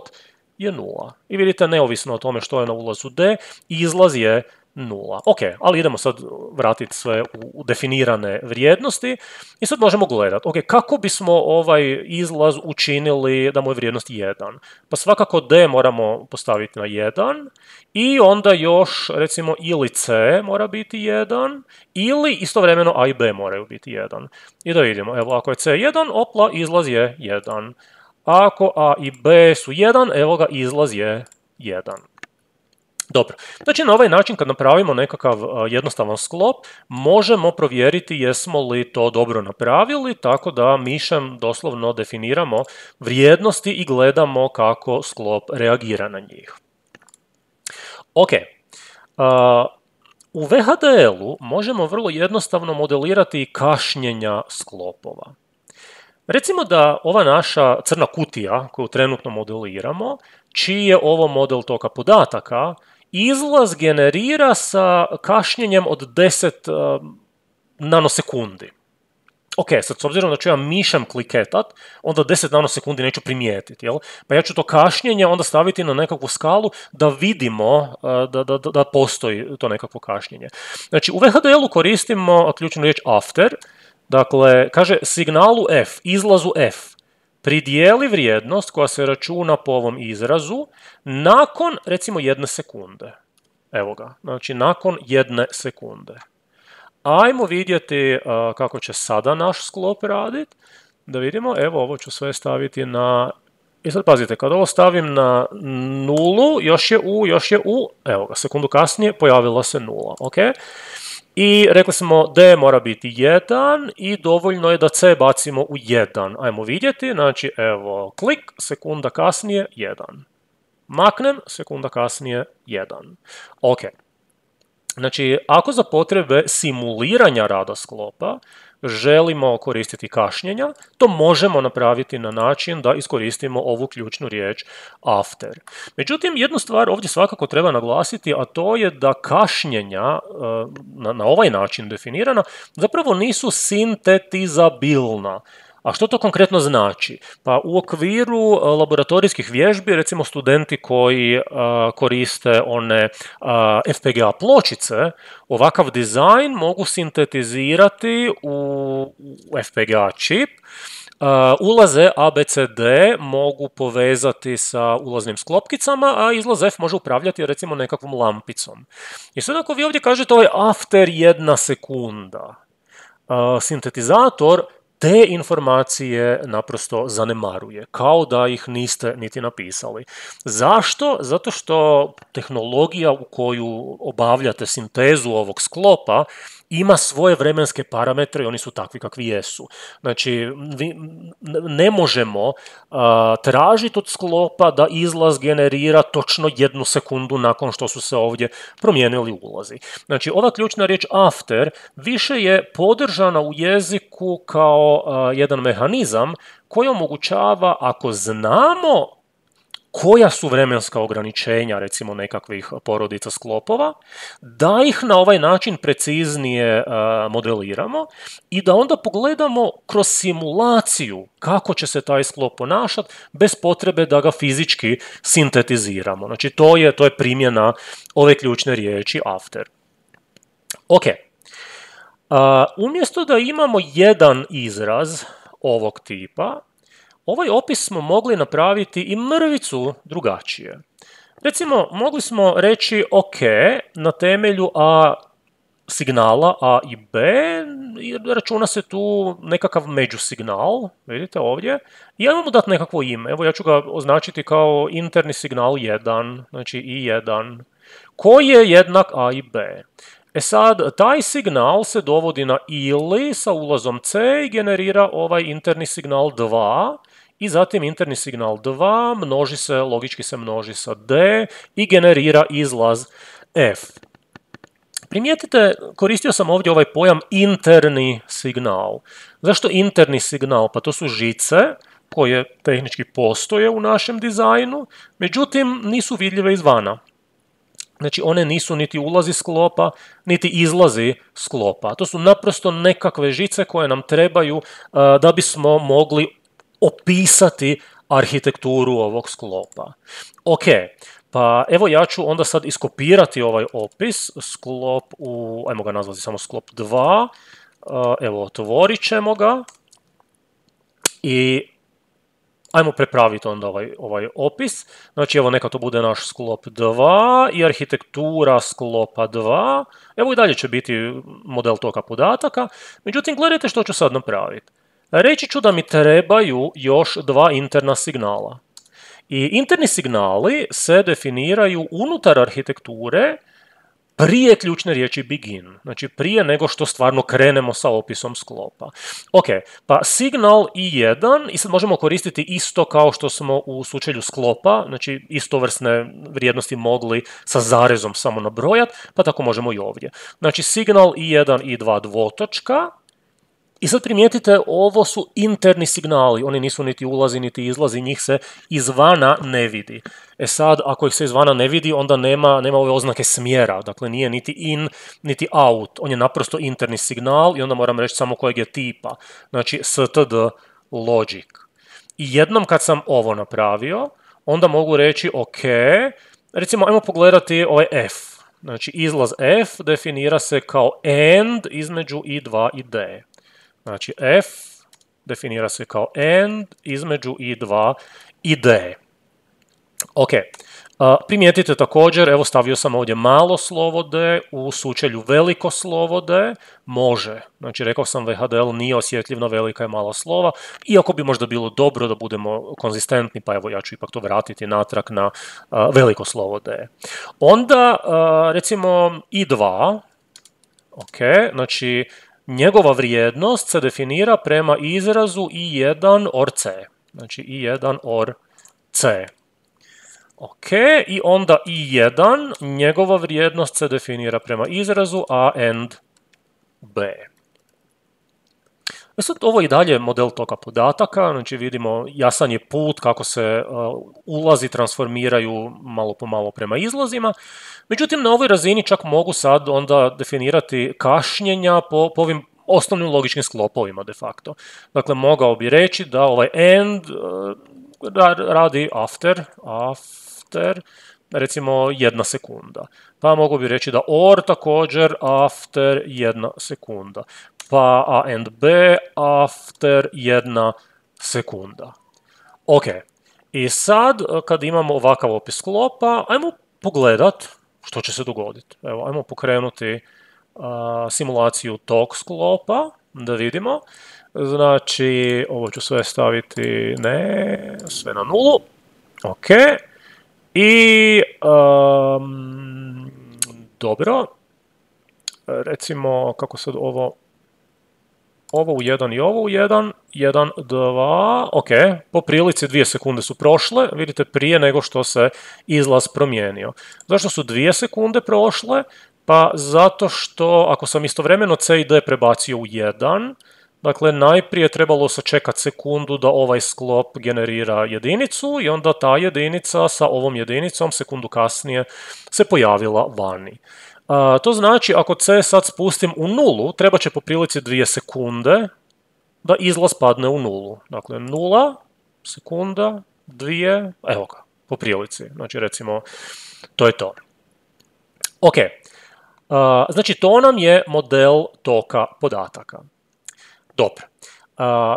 je 0. I vidite, neovisno o tome što je na ulazu D, izlaz je 0. Ok, ali idemo sad vratiti sve u definirane vrijednosti i sad možemo gledati, ok, kako bismo ovaj izlaz učinili da mu je vrijednost 1. Pa svakako D moramo postaviti na 1 i onda još recimo ili C mora biti 1 ili istovremeno A i B moraju biti 1. I da vidimo, evo ako je C 1, opla, izlaz je 1. Ako A i B su 1, evo ga, izlaz je 1. Dobro, znači na ovaj način kad napravimo nekakav jednostavan sklop, možemo provjeriti jesmo li to dobro napravili, tako da mišem doslovno definiramo vrijednosti i gledamo kako sklop reagira na njih. Ok, u VHDL-u možemo vrlo jednostavno modelirati kašnjenja sklopova. Recimo da ova naša crna kutija koju trenutno modeliramo, čiji je ovo model toka podataka, izlaz generira sa kašnjenjem od 10 nanosekundi. Ok, sad s obzirom da ću ja mišem kliketat, onda 10 nanosekundi neću primijetiti, jel? Pa ja ću to kašnjenje onda staviti na nekakvu skalu da vidimo da postoji to nekakvo kašnjenje. Znači, u VHDL-u koristimo ključnu riječ after, dakle, kaže signalu F, izlazu F, pridijeli vrijednost koja se računa po ovom izrazu nakon, recimo, 1 sekunde. Evo ga, znači nakon 1 sekunde. Ajmo vidjeti kako će sada naš sklop raditi. Da vidimo, evo ovo ću sve staviti na I sad pazite, kad ovo stavim na nulu, još je u, evo ga, sekundu kasnije pojavila se nula, ok? I rekli smo D mora biti 1 i dovoljno je da C bacimo u 1. Ajmo vidjeti, znači evo, klik, sekunda kasnije 1. Maknem, sekunda kasnije 1. Ok. Znači, ako za potrebe simuliranja rada sklopa želimo koristiti kašnjenja, to možemo napraviti na način da iskoristimo ovu ključnu riječ after. Međutim, jednu stvar ovdje svakako treba naglasiti, a to je da kašnjenja na ovaj način definirana zapravo nisu sintetizabilna. A što to konkretno znači? Pa u okviru laboratorijskih vježbi, recimo studenti koji koriste one FPGA pločice, ovakav dizajn mogu sintetizirati u FPGA čip, ulaze ABCD mogu povezati sa ulaznim sklopkicama, a izlaz F može upravljati recimo nekakvom lampicom. I sad ako vi ovdje kažete ovaj after 1 sekunda, sintetizator te informacije naprosto zanemaruje, kao da ih niste niti napisali. Zašto? Zato što tehnologija u koju obavljate sintezu ovog sklopa ima svoje vremenske parametre i oni su takvi kakvi jesu. Znači, ne možemo tražiti od sklopa da izlaz generira točno 1 sekundu nakon što su se ovdje promijenili ulazi. Znači, ova ključna riječ after više je podržana u jeziku kao jedan mehanizam koji omogućava, ako znamo koja su vremenska ograničenja, recimo nekakvih porodica sklopova, da ih na ovaj način preciznije modeliramo i da onda pogledamo kroz simulaciju kako će se taj sklop ponašati bez potrebe da ga fizički sintetiziramo. Znači to je primjena ove ključne riječi after. Ok. Umjesto da imamo jedan izraz ovog tipa, ovaj opis smo mogli napraviti i mrvicu drugačije. Recimo, mogli smo reći ok, na temelju signala A i B, računa se tu nekakav međusignal, vidite ovdje, i ajmo mu dati nekakvo ime. Evo ja ću ga označiti kao interni signal 1, znači I1, koji je jednak A i B. E sad, taj signal se dovodi na ili sa ulazom C i generira ovaj interni signal 2, i zatim interni signal 2 logički se množi sa D i generira izlaz F. Primijetite, koristio sam ovdje ovaj pojam interni signal. Zašto interni signal? Pa to su žice koje tehnički postoje u našem dizajnu, međutim nisu vidljive izvana. Znači one nisu niti ulazi sklopa, niti izlazi sklopa. To su naprosto nekakve žice koje nam trebaju da bismo mogli opisati arhitekturu ovog sklopa. Ok, pa evo ja ću onda sad iskopirati ovaj opis, sklop ajmo ga nazvati samo sklop 2, evo otvorit ćemo ga i ajmo prepraviti onda ovaj opis. Znači evo neka to bude naš sklop 2 i arhitektura sklopa 2. Evo i dalje će biti model toka podataka, međutim gledajte što ću sad napraviti. Reći ću da mi trebaju još 2 interna signala. I interni signali se definiraju unutar arhitekture prije ključne riječi begin, znači prije nego što stvarno krenemo sa opisom sklopa. Ok, pa signal I1, i sad možemo koristiti isto kao što smo u slučaju sklopa, znači istovrsne vrijednosti mogli sa zarezom samo nabrojati, pa tako možemo i ovdje. Znači signal I1, I2 dvotočka, i sad primijetite, ovo su interni signali, oni nisu niti ulazi niti izlazi, njih se izvana ne vidi. E sad, ako ih se izvana ne vidi, onda nema ove oznake smjera, dakle nije niti in, niti out, on je naprosto interni signal i onda moram reći samo kojeg je tipa, znači std logic. I jednom kad sam ovo napravio, onda mogu reći ok, recimo ajmo pogledati ovaj F. Znači izlaz F definira se kao AND između I2 i D. Znači F definira se kao AND između I2 i D. Ok, primijetite također, evo stavio sam ovdje malo slovo D, u sučelju veliko slovo D, može. Znači rekao sam VHDL nije osjetljiv na velika i mala slova, iako bi možda bilo dobro da budemo konzistentni, pa evo ja ću ipak to vratiti natrag na veliko slovo D. Onda recimo I2, ok, znači njegova vrijednost se definira prema izrazu I1 or C. Znači I1 or C. Ok, i onda I1, njegova vrijednost se definira prema izrazu A and B. Sad ovo je i dalje model toka podataka, znači vidimo jasan je put kako se ulazi transformiraju malo po malo prema izlazima. Međutim, na ovoj razini čak mogu sad onda definirati kašnjenja po ovim osnovnim logičkim sklopovima de facto. Dakle, mogao bi reći da ovaj and radi after, recimo 1 sekunda. Pa mogu bi reći da or također after 1 sekunda. Pa A and B after 1 sekunda. Ok, i sad kad imamo ovakav opis sklopa, ajmo pogledat što će se dogoditi. Evo, ajmo pokrenuti simulaciju tog sklopa, da vidimo. Znači, ovo ću sve staviti, sve na nulu. Ok. I, dobro, recimo, kako sad ovo u 1 i ovo u 1, 1, 2, ok, po prilici 2 sekunde su prošle, vidite prije nego što se izlaz promijenio. Zašto su 2 sekunde prošle? Pa zato što ako sam istovremeno C i D prebacio u 1, dakle, najprije trebalo sačekati sekundu da ovaj sklop generira jedinicu i onda ta jedinica sa ovom jedinicom sekundu kasnije se pojavila vani. To znači, ako C sad spustim u nulu, treba će po prilici 2 sekunde da izlaz padne u nulu. Dakle, 0 sekunda, 2, evo ga, po prilici. Znači, recimo, to je to. Ok, znači to nam je model toka podataka. Dobro,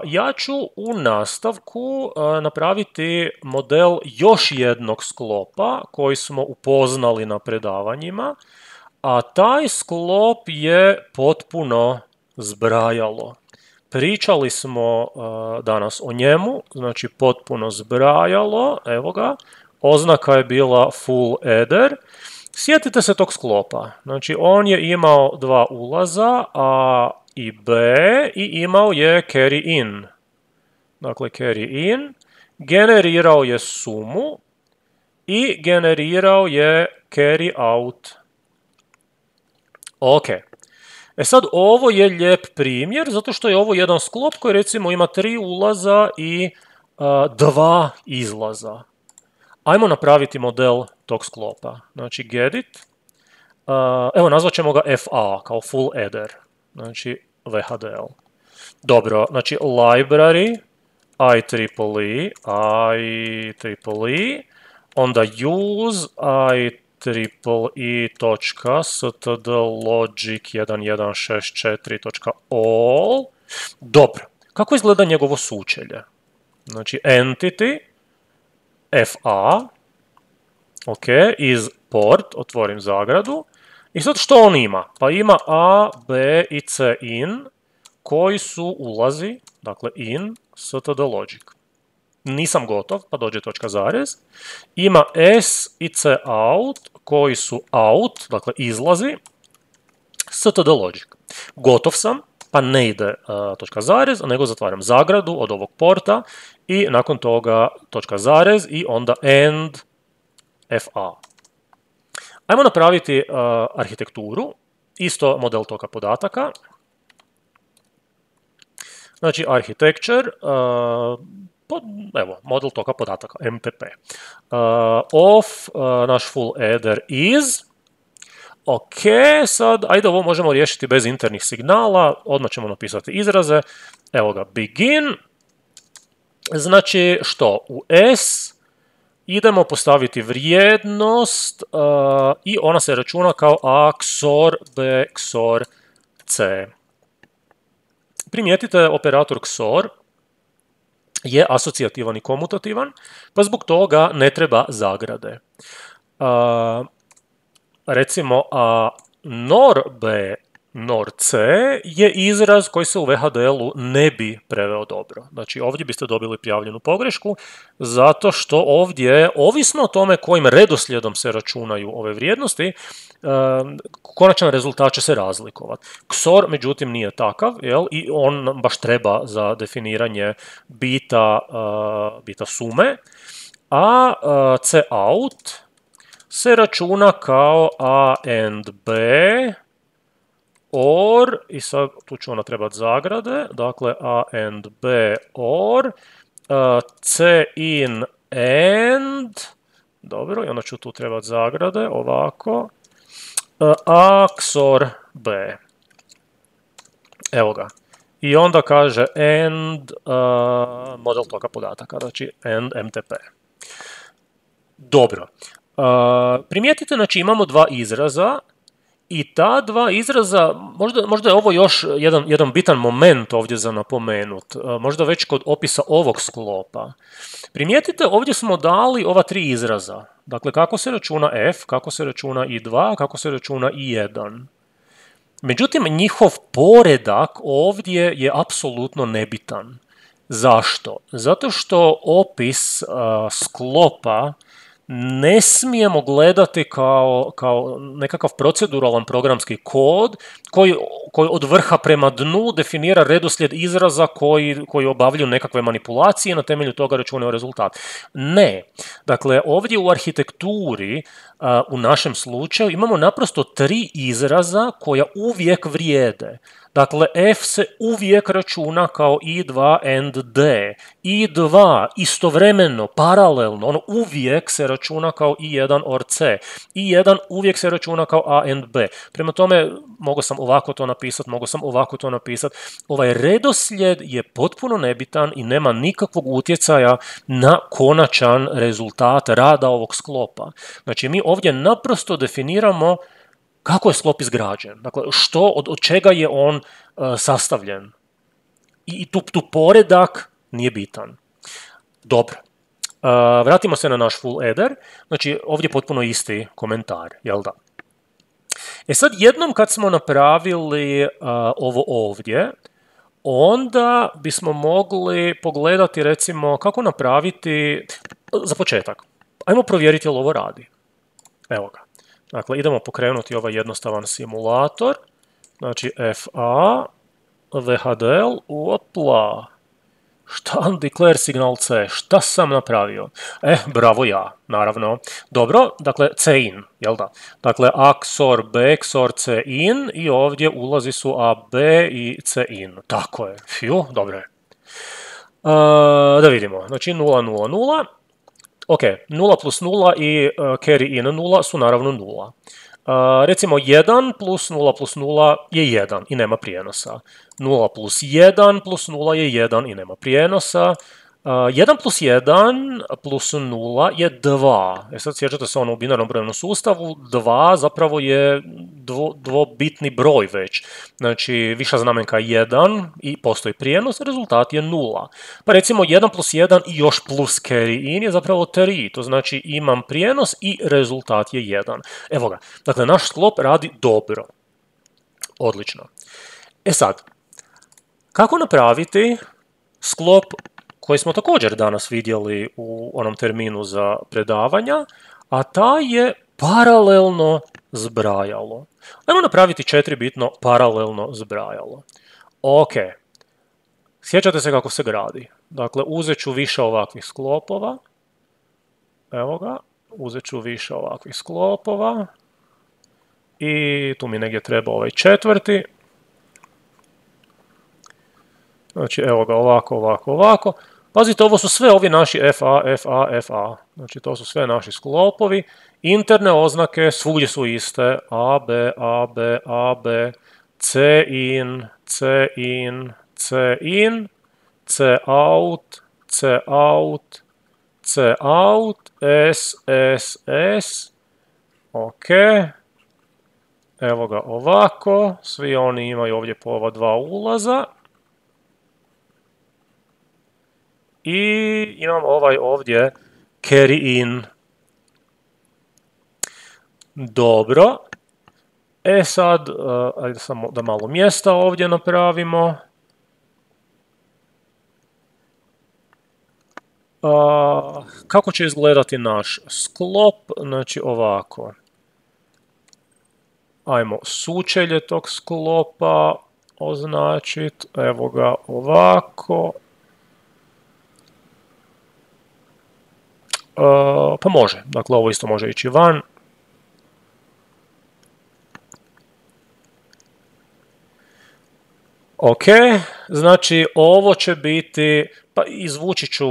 ja ću u nastavku napraviti model još jednog sklopa koji smo upoznali na predavanjima, a taj sklop je potpuno zbrajalo. Pričali smo danas o njemu, znači potpuno zbrajalo, evo ga, oznaka je bila full adder. Sjetite se tog sklopa, znači on je imao 2 ulaza, A i B, i imao je carry in. Dakle, carry in, generirao je sumu i generirao je carry out. Ok. E sad, ovo je lijep primjer, zato što je ovo jedan sklop koji recimo ima 3 ulaza i 2 izlaza. Ajmo napraviti model tog sklopa. Znači, get evo, nazvat ćemo ga FA, kao full adder. Znači, VHDL. Dobro, znači, library, IEEE, onda use, IEEE.stdlogic1164.all. Dobro, kako izgleda njegovo sučelje? Znači, entity, FA, ok, iz port, otvorim zagradu, i sad što on ima? Pa ima A, B i C in, koji su ulazi, dakle in, stdlogic. Nisam gotov, pa dođe točka zarez. Ima S i C out, koji su out, dakle izlazi, stdlogic. Gotov sam, pa ne ide točka zarez, nego zatvaram zagradu od ovog porta i nakon toga točka zarez i onda end FA. Ajmo napraviti arhitekturu, isto model toka podataka. Znači, architecture, evo, model toka podataka, MPP. Of, naš full adder is. Ok, sad, ajde ovo možemo riješiti bez internih signala, odmah ćemo napisati izraze. Evo ga, begin. Znači, što? U S idemo postaviti vrijednost i ona se računa kao A XOR B XOR C. Primijetite operator XOR je asocijativan i komutativan, pa zbog toga ne treba zagrade. Recimo, nor B, nor C je izraz koji se u VHDL-u ne bi preveo dobro. Znači, ovdje biste dobili prijavljenu pogrešku, zato što ovdje, ovisno o tome kojim redoslijedom se računaju ove vrijednosti, konačan rezultat će se razlikovati. XOR, međutim, nije takav, jel? I on baš treba za definiranje bita sume, a cout se računa kao a and b or, i sad tu ću ona trebati zagrade, dakle a and b or c in and, dobro, i onda ću tu trebati zagrade, ovako, a XOR b. Evo ga. I onda kaže and model toka podataka, znači and MTP. Dobro. Primijetite, znači imamo dva izraza i ta dva izraza, možda je ovo još jedan bitan moment ovdje za napomenut, možda već kod opisa ovog sklopa. Primijetite, ovdje smo dali ova tri izraza. Dakle, kako se računa f, kako se računa i2, kako se računa i1. Međutim, njihov poredak ovdje je apsolutno nebitan. Zašto? Zato što opis sklopa ne smijemo gledati kao nekakav proceduralan programski kod koji od vrha prema dnu definira redoslijed izraza koji obavljaju nekakve manipulacije i na temelju toga računaju rezultat. Ne. Dakle, ovdje u arhitekturi, u našem slučaju, imamo naprosto tri izraza koja uvijek vrijede. Dakle, f se uvijek računa kao i2 and d. i2 istovremeno, paralelno, ono uvijek se računa kao i1 or c. i1 uvijek se računa kao a and b. Prema tome, mogao sam ovako to napisati, mogao sam ovako to napisati. Ovaj redoslijed je potpuno nebitan i nema nikakvog utjecaja na konačan rezultat rada ovog sklopa. Znači, mi ovdje naprosto definiramo kako je sklop izgrađen, dakle od čega je on sastavljen. I tu poredak nije bitan. Dobro. Vratimo se na naš full header. Znači, ovdje je potpuno isti komentar, jel da? E sad, jednom kad smo napravili ovo ovdje, onda bismo mogli pogledati, recimo, kako napraviti, za početak, ajmo provjeriti jel ovo radi. Evo ga. Dakle, idemo pokrenuti ovaj jednostavan simulator. Znači, FA, VHDL, opla. Šta declare signal C? Šta sam napravio? Bravo ja, naravno. Dobro, dakle, C in, jel da? Dakle, A XOR B XOR C in i ovdje ulazi su A, B i C in. Tako je. Fiu, dobro je. Da vidimo. Znači, 0, 0, 0. Ok, 0 plus 0 i carry in 0 su naravno 0. Recimo 1 plus 0 plus 0 je 1 i nema prijenosa. 0 plus 1 plus 0 je 1 i nema prijenosa. 1 plus 1 plus 0 je 2. Sad sjećate se ono u binarnom brojevnom sustavu, 2 zapravo je dvobitni broj već. Znači, viša znamenka 1 i postoji prijenos, rezultat je 0. Pa recimo 1 plus 1 i još plus carry in je zapravo 3. To znači imam prijenos i rezultat je 1. Evo ga. Dakle, naš sklop radi dobro. Odlično. E sad, kako napraviti sklop koji smo također danas vidjeli u onom terminu za predavanja, a taj je paralelno zbrajalo. Ajmo napraviti 4-bitno paralelno zbrajalo. Ok, sjećate se kako se gradi. Dakle, uzet ću više ovakvih sklopova. Evo ga, uzet ću više ovakvih sklopova. I tu mi negdje treba ovaj četvrti. Znači, evo ga, ovako, ovako, ovako. Pazite, ovo su sve ovi naši FA, FA, FA. Znači, to su sve naši sklopovi. Interne oznake svugdje su iste. AB, AB, AB, C in, C in, C in, C out, C out, C out, S, S, S. Ok. Evo ga ovako. Svi oni imaju ovdje po ova dva ulaza. i imam ovaj ovdje carry in. Dobro. Sad, ajde samo da malo mjesta ovdje napravimo. Kako će izgledati naš sklop? Znači ovako. Ajmo sučelje tog sklopa označiti. Evo ga ovako. Pa može. Dakle, ovo isto može ići van. Ok, znači ovo će biti, pa izvući ću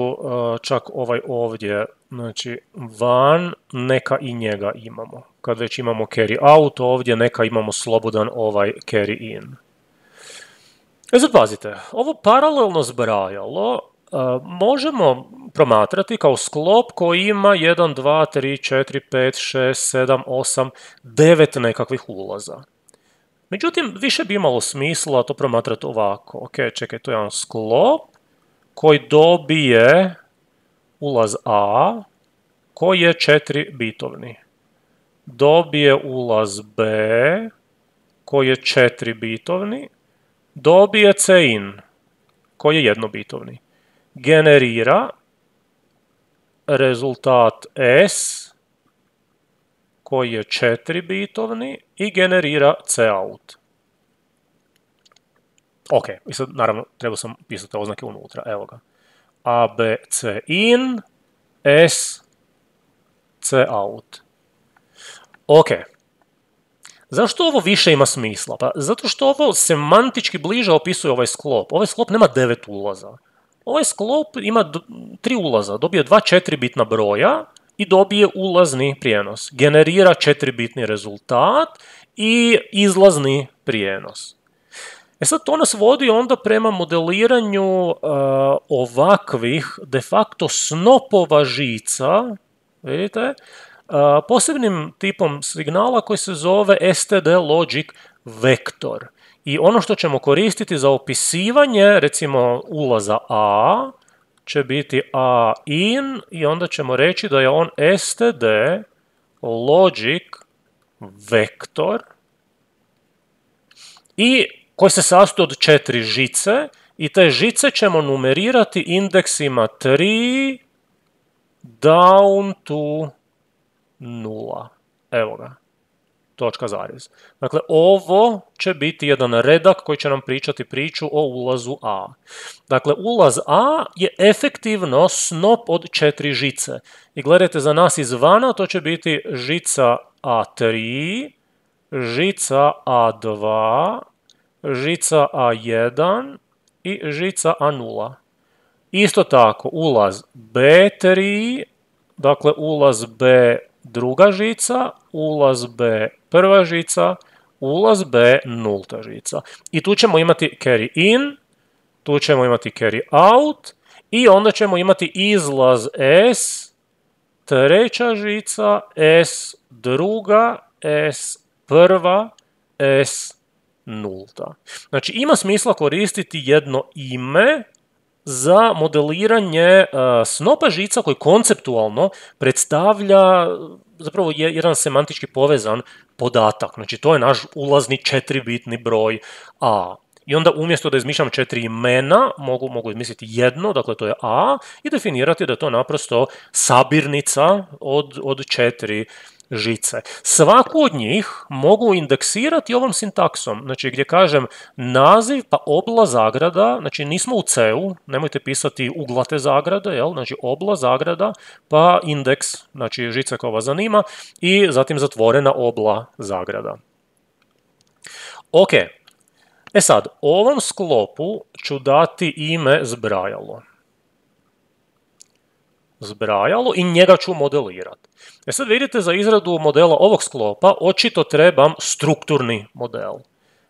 čak ovaj ovdje, znači van, neka i njega imamo. Kad već imamo carry out ovdje, neka imamo slobodan ovaj carry in. Sad pazite, ovo paralelno zbrajalo možemo promatrati kao sklop koji ima 1, 2, 3, 4, 5, 6, 7, 8, 9 nekakvih ulaza. Međutim, više bi imalo smisla to promatrati ovako. Ok, čekaj, to je jedan sklop koji dobije ulaz A, koji je 4 bitovni. Dobije ulaz B, koji je 4 bitovni. Dobije C-in, koji je jednobitovni. Generira rezultat S, koji je 4 bitovni i generira cout. Ok, i sad naravno trebao sam pisati oznake unutra, evo ga. A, B, C in, S, cout. Ok. Zašto ovo više ima smisla? Pa zato što ovo semantički bliže opisuje ovaj sklop. Ovaj sklop nema 9 ulaza. Ovaj sklop ima 3 ulaza, dobije 2 4-bitna broja i dobije ulazni prijenos. Generira 4-bitni rezultat i izlazni prijenos. Sad to nas vodi onda prema modeliranju ovakvih de facto snopova žica, vidite, posebnim tipom signala koji se zove std logic vektor. I ono što ćemo koristiti za opisivanje, recimo ulaza A, će biti A in i onda ćemo reći da je on std logic vektor i koji se sastoji od 4 žice i te žice ćemo numerirati indeksima 3 down to 0. Evo ga. Točka zarez. Dakle, ovo će biti jedan redak koji će nam pričati priču o ulazu A. Dakle, ulaz A je efektivno snop od 4 žice. I gledajte, za nas izvana to će biti žica A3, žica A2, žica A1 i žica A0. Isto tako, ulaz B3, dakle ulaz B druga žica, ulaz B prva žica, ulaz B nulta žica. I tu ćemo imati carry in, tu ćemo imati carry out i onda ćemo imati izlaz S, treća žica, S druga, S prva, S nulta. Znači ima smisla koristiti jedno ime za modeliranje snopa žica koji konceptualno predstavlja zapravo jedan semantički povezan podatak. Znači to je naš ulazni 4-bitni broj A. I onda umjesto da izmišljam 4 imena, mogu izmisliti jedno, dakle to je A, i definirati da je to naprosto sabirnica od 4 žice. Svaku od njih mogu indeksirati ovom sintaksom, znači gdje kažem naziv pa obla zagrada, znači nismo u C-u, nemojte pisati uglate zagrade, jel? Znači obla zagrada pa indeks, znači žica koja vas zanima i zatim zatvorena obla zagrada. Ok, sad, ovom sklopu ću dati ime zbrajalo. I njega ću modelirati. Sad vidite, za izradu modela ovog sklopa očito trebam strukturni model.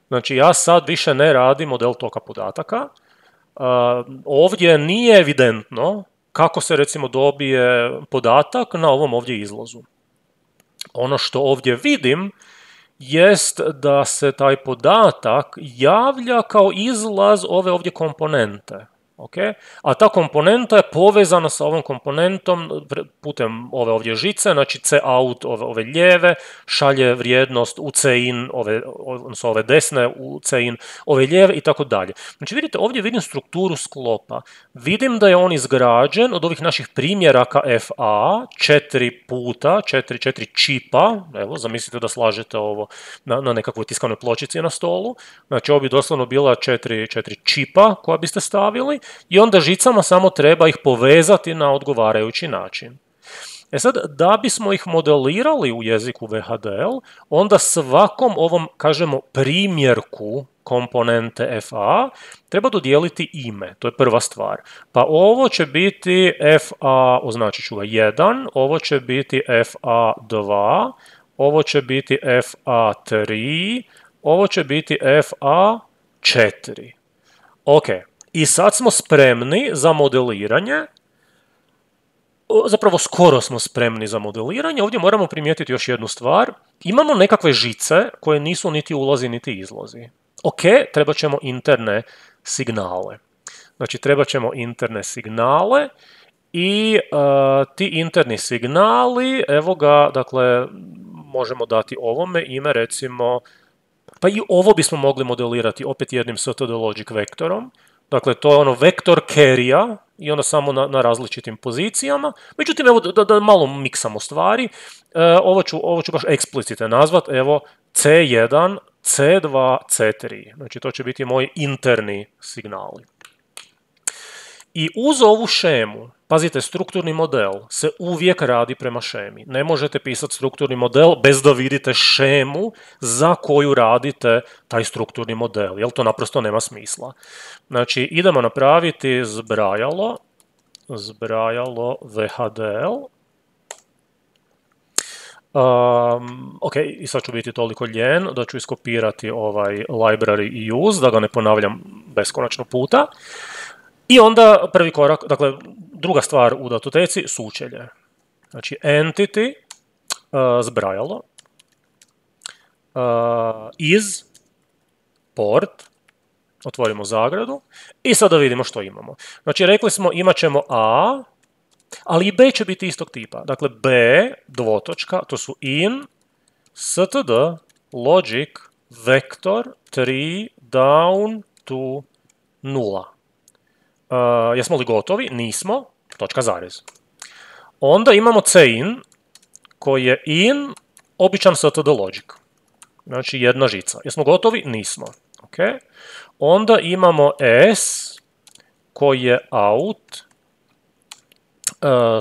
Znači ja sad više ne radim model toka podataka. Ovdje nije evidentno kako se recimo dobije podatak na ovom ovdje izlazu. Ono što ovdje vidim jest da se taj podatak javlja kao izlaz ove ovdje komponente. Okay? A ta komponenta je povezana sa ovom komponentom putem ove ovdje žice, znači cout ove lijeve šalje vrijednost u cin, odnosno ove desne u cin, ove lijeve i tako dalje. Znači vidite, ovdje vidim strukturu sklopa. Vidim da je on izgrađen od ovih naših primjeraka FA 4 čipa, evo zamislite da slažete ovo na nekakvoj tiskanoj pločici na stolu, znači ovo bi doslovno bila 4 čipa koja biste stavili i onda žicama samo treba ih povezati na odgovarajući način. E sad, da bismo ih modelirali u jeziku VHDL, onda svakom ovom, kažemo, primjerku komponente FA treba dodijeliti ime, to je prva stvar. Pa ovo će biti FA, označit ću ga 1, ovo će biti FA2, ovo će biti FA3, ovo će biti FA4. Ok, i sad smo spremni za modeliranje. Zapravo skoro smo spremni za modeliranje. Ovdje moramo primijetiti još jednu stvar. Imamo nekakve žice koje nisu niti ulazi niti izlazi. Ok, trebat ćemo interne signale. Znači trebat ćemo interne signale i ti interni signali, evo ga, dakle, možemo dati ovome ime, recimo, pa i ovo bismo mogli modelirati opet jednim std logic vektorom. Dakle, to je ono vektor carry-a i onda samo na različitim pozicijama. Međutim, evo da malo miksamo stvari, ovo ću baš eksplicite nazvat, evo C1, C2, C3. Znači, to će biti moji interni signali. I uz ovu šemu, pazite, strukturni model se uvijek radi prema šemi. Ne možete pisati strukturni model bez da vidite šemu za koju radite taj strukturni model, jer to naprosto nema smisla. Znači, idemo napraviti zbrajalo VHDL. Ok, i sad ću biti toliko ljen da ću iskopirati ovaj library i use, da ga ne ponavljam beskonačno puta. I onda prvi korak, dakle, druga stvar u datoteci, sučelje. Znači, entity, zbrajalo, is, port, otvorimo zagradu i sada vidimo što imamo. Znači, rekli smo imat ćemo A, ali i B će biti istog tipa. Dakle, B, dvotočka, to su in, std, logic, vektor, 3, down to 0. Jesmo li gotovi? Nismo. Točka zarez. Onda imamo cin koji je in običan std logic. Znači jedna žica. Jesmo gotovi? Nismo. Okay. Onda imamo s koji je out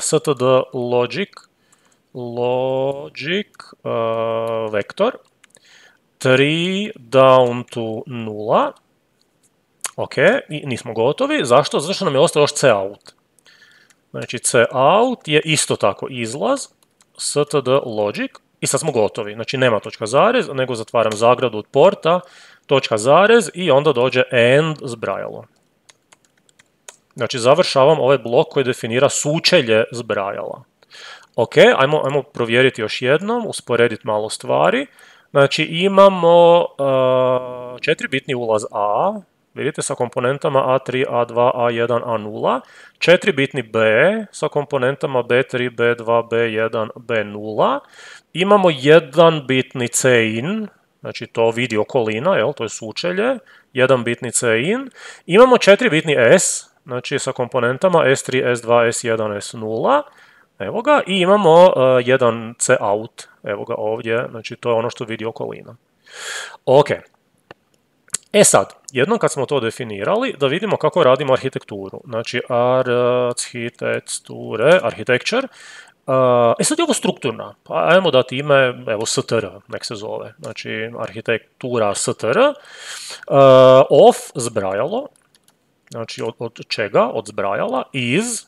std logic vektor 3 down to 0. Ok, i nismo gotovi. Zašto? Zato što nam je ostao još cout. Znači cout je isto tako izlaz, std logic, i sad smo gotovi. Znači nema točka zarez, nego zatvaram zagradu od porta, točka zarez i onda dođe end zbrajalo. Znači završavam ovaj blok koji definira sučelje zbrajala. Ok, ajmo provjeriti još jednom, usporediti malo stvari. Znači imamo 4-bitni ulaz A, vidite, sa komponentama A3, A2, A1, A0. 4-bitni B sa komponentama B3, B2, B1, B0. Imamo 1-bitni cin, znači to vidi okolina, jel, to je sučelje. 1-bitni cin. Imamo 4-bitni S, znači sa komponentama S3, S2, S1, S0. Evo ga. I imamo jedan cout, evo ga ovdje, znači to je ono što vidi okolina. Ok. E sad, jednom kad smo to definirali, da vidimo kako radimo arhitekturu. Znači, architecture. E sad je ovo strukturna. Pa ajmo dati ime, evo, str, nek se zove. Znači, arhitektura str. Of zbrajalo. Znači, od čega? Od zbrajala. Is.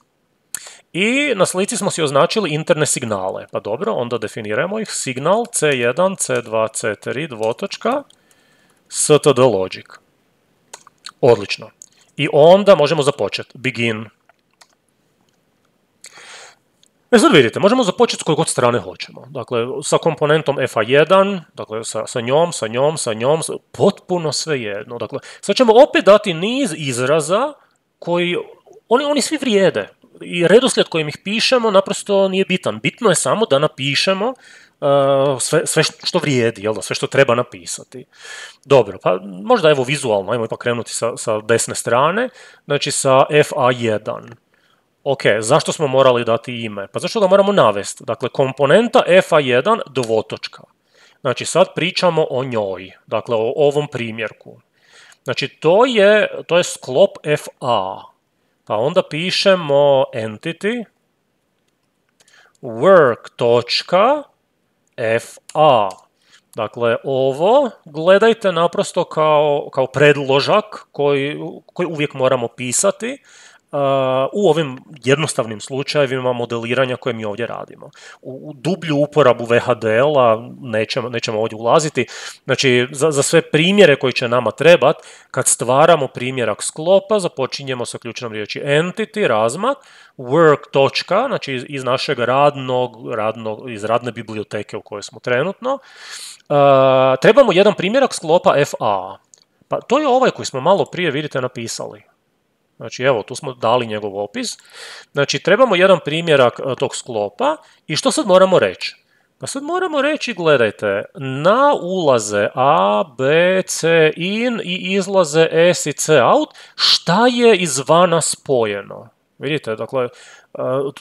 I na slici smo si označili interne signale. Pa dobro, onda definiramo ih. Signal C1, C2, C3, dvotočka. std logic. Odlično. I onda možemo započeti. Begin. E sad vidite, možemo započeti s koje god strane hoćemo. Dakle, sa komponentom FA1, dakle, sa njom, potpuno svejedno. Dakle, sad ćemo opet dati niz izraza oni svi vrijede. I redoslijed kojim ih pišemo naprosto nije bitan. Bitno je samo da napišemo sve što vrijedi, jel da, sve što treba napisati. Dobro, pa možda evo vizualno, ajmo ipak krenuti sa desne strane, znači sa FA1. Ok, zašto smo morali dati ime? Pa zašto ga moramo navesti? Dakle, komponenta FA1 dvotočka. Znači, sad pričamo o njoj, dakle, o ovom primjerku. Znači, to je sklop FA. Pa onda pišemo entity work.fa. Dakle, ovo gledajte naprosto kao predložak koji uvijek moramo pisati u ovim jednostavnim slučajevima modeliranja koje mi ovdje radimo. U dublju uporabu VHDL-a nećemo ovdje ulaziti. Znači, za sve primjere koji će nama trebati, kad stvaramo primjerak sklopa, započinjemo sa ključnom riječi entity, razmak, work. Znači iz našeg iz radne biblioteke u kojoj smo trenutno. Trebamo jedan primjerak sklopa FA. Pa to je ovaj koji smo malo prije, vidite, napisali. Znači, evo, tu smo dali njegov opis. Znači, trebamo jedan primjerak tog sklopa i što sad moramo reći? Pa sad moramo reći, gledajte, na ulaze A, B, C in i izlaze S i C out, šta je izvana spojeno? Vidite, dakle,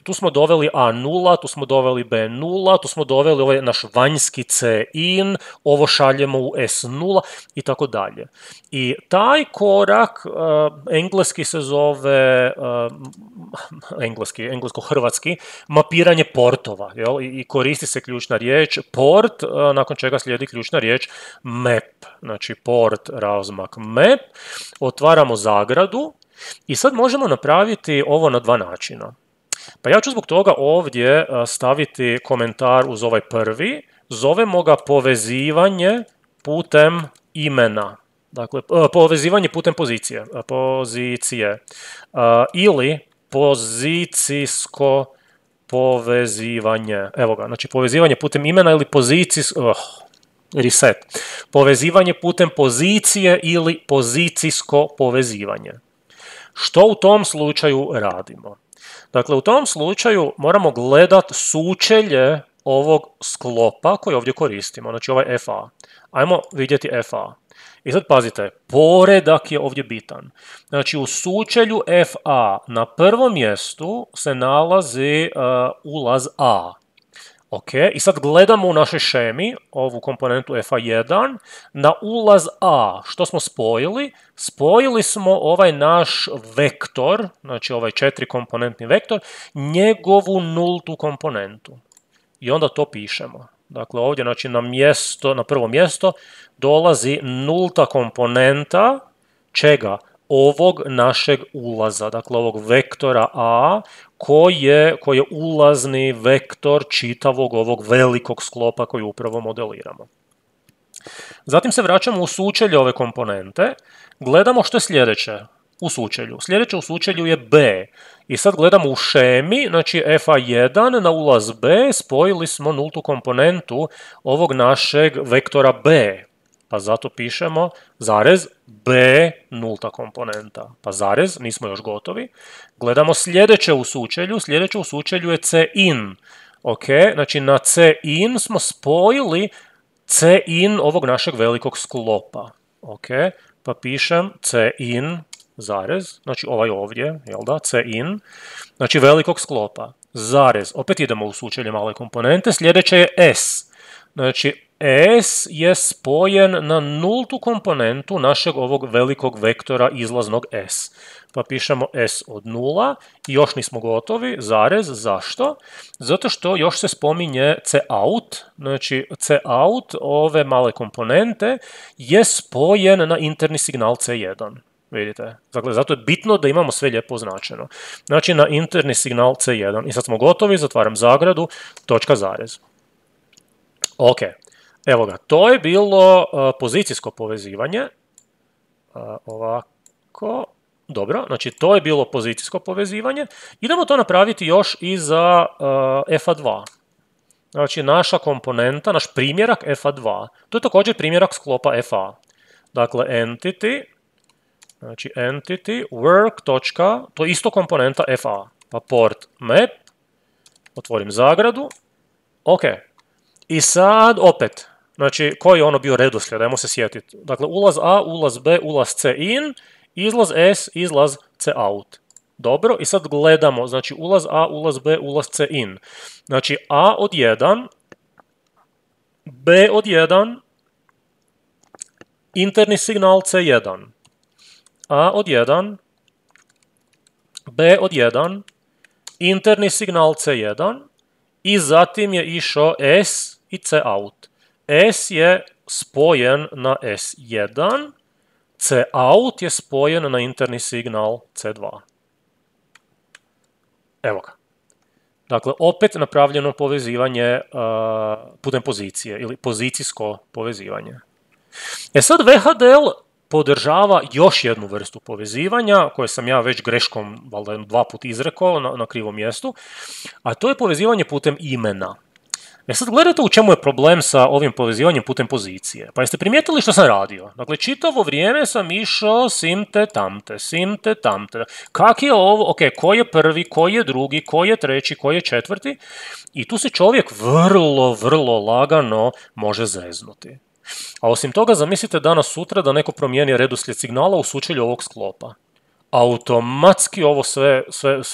tu smo doveli A0, tu smo doveli B0, tu smo doveli ovaj naš vanjski C in, ovo šaljemo u S0 i tako dalje. I taj korak, engleski se zove, englesko-hrvatski, mapiranje portova, jel? I koristi se ključna riječ port, nakon čega slijedi ključna riječ map. Znači port, razmak, map, otvaramo zagradu. I sad možemo napraviti ovo na dva načina. Pa ja ću zbog toga ovdje staviti komentar uz ovaj prvi. Zovemo ga povezivanje putem imena. Dakle, povezivanje putem pozicije. Ili pozicijsko povezivanje. Evo ga, znači povezivanje putem imena ili reset. Povezivanje putem pozicije ili pozicijsko povezivanje. Što u tom slučaju radimo? Dakle, u tom slučaju moramo gledati sučelje ovog sklopa koji ovdje koristimo, znači ovaj FA. Ajmo vidjeti FA. I sad pazite, poredak je ovdje bitan. Znači, u sučelju FA na prvom mjestu se nalazi ulaz A. Ok, i sad gledamo u našoj šemi, ovu komponentu FA1, na ulaz A. Što smo spojili? Spojili smo ovaj naš vektor, znači ovaj 4-komponentni vektor, njegovu nultu komponentu. I onda to pišemo. Dakle, ovdje znači na prvo mjesto dolazi nulta komponenta čega? Ovog našeg ulaza, dakle ovog vektora A, koji je ulazni vektor čitavog ovog velikog sklopa koji upravo modeliramo. Zatim se vraćamo u sučelje ove komponente, gledamo što je sljedeće u sučelju. Sljedeće u sučelju je B. I sad gledamo u šemi, znači FA1 na ulaz B, spojili smo nultu komponentu ovog našeg vektora B. Pa zato pišemo zarez B nulta komponenta. Pa zarez, nismo još gotovi. Gledamo sljedeće u sučelju. Sljedeće u sučelju je C in. Ok, znači na C in smo spojili C in ovog našeg velikog sklopa. Ok, pa pišem C in zarez, znači ovaj ovdje, jel da, C in, znači velikog sklopa. Zarez, opet idemo u sučelje male komponente. Sljedeće je S. Znači S je spojen na nultu komponentu našeg ovog velikog vektora izlaznog S. Pa pišemo S od 0 i još nismo gotovi, zarez, zašto? Zato što još se spominje C out, znači C out ove male komponente je spojen na interni signal C1. Vidite, dakle, zato je bitno da imamo sve lijepo označeno. Znači na interni signal C1. I sad smo gotovi, zatvaram zagradu, točka zarez. Ok. Evo ga, to je bilo pozicijsko povezivanje. Ovako. Dobro, znači to je bilo pozicijsko povezivanje. Idemo to napraviti još i za FA2. Znači naša komponenta, naš primjerak FA2. To je također primjerak sklopa FA. Dakle, entity Znači entity work. To je isto komponenta fa. Pa port map, otvorim zagradu, ok. I sad opet, znači koji je ono bio redoslijed, ajmo se sjetiti. Dakle, ulaz A, ulaz B, ulaz C in, izlaz S, izlaz C out. Dobro, i sad gledamo, znači ulaz A, ulaz B, ulaz C in. Znači A od 1, B od 1, interni signal C1. A od 1, B od 1, interni signal C1 i zatim je išao S i C out. S je spojen na S1, C out je spojen na interni signal C2. Evo ga. Dakle, opet napravljeno povezivanje putem pozicije ili pozicijsko povezivanje. E sad VHDL podržava još jednu vrstu povezivanja, koje sam ja već greškom valjda 2 puta izrekao na krivom mjestu, a to je povezivanje putem imena. E sad gledajte u čemu je problem sa ovim povezivanjem putem pozicije. Pa jeste primijetili što sam radio? Dakle, čitavo vrijeme sam išao simte tamte. Kak je ovo? Ok, ko je prvi, ko je drugi, ko je treći, ko je četvrti? I tu se čovjek vrlo lagano može zeznuti. A osim toga, zamislite danas sutra da neko promijeni redoslijed signala u sučelju ovog sklopa. Automatski ovo sve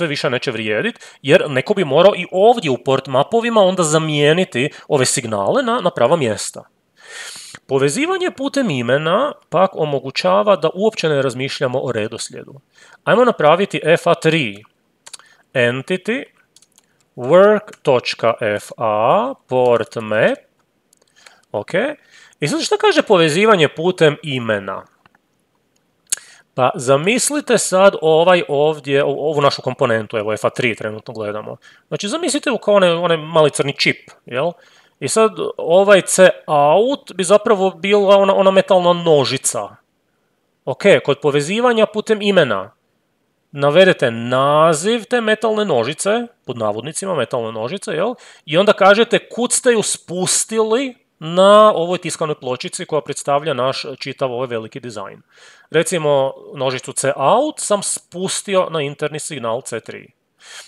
više neće vrijediti, jer neko bi morao i ovdje u port mapovima onda zamijeniti ove signale na prava mjesta. Povezivanje putem imena pak omogućava da uopće ne razmišljamo o redoslijedu. Ajmo napraviti fa3 entity work.fa port map. Ok. I sad što kaže povezivanje putem imena? Pa zamislite sad ovu našu komponentu, evo fa3 trenutno gledamo. Znači zamislite kao onaj mali crni čip, jel? I sad ovaj C out bi zapravo bila ona metalna nožica. Ok, kod povezivanja putem imena navedete naziv te metalne nožice, pod navodnicima metalne nožice, jel? I onda kažete kud ste ju spustili na ovoj tiskanoj pločici koja predstavlja naš čitav ovaj veliki dizajn. Recimo, nožicu C out sam spustio na interni signal C3.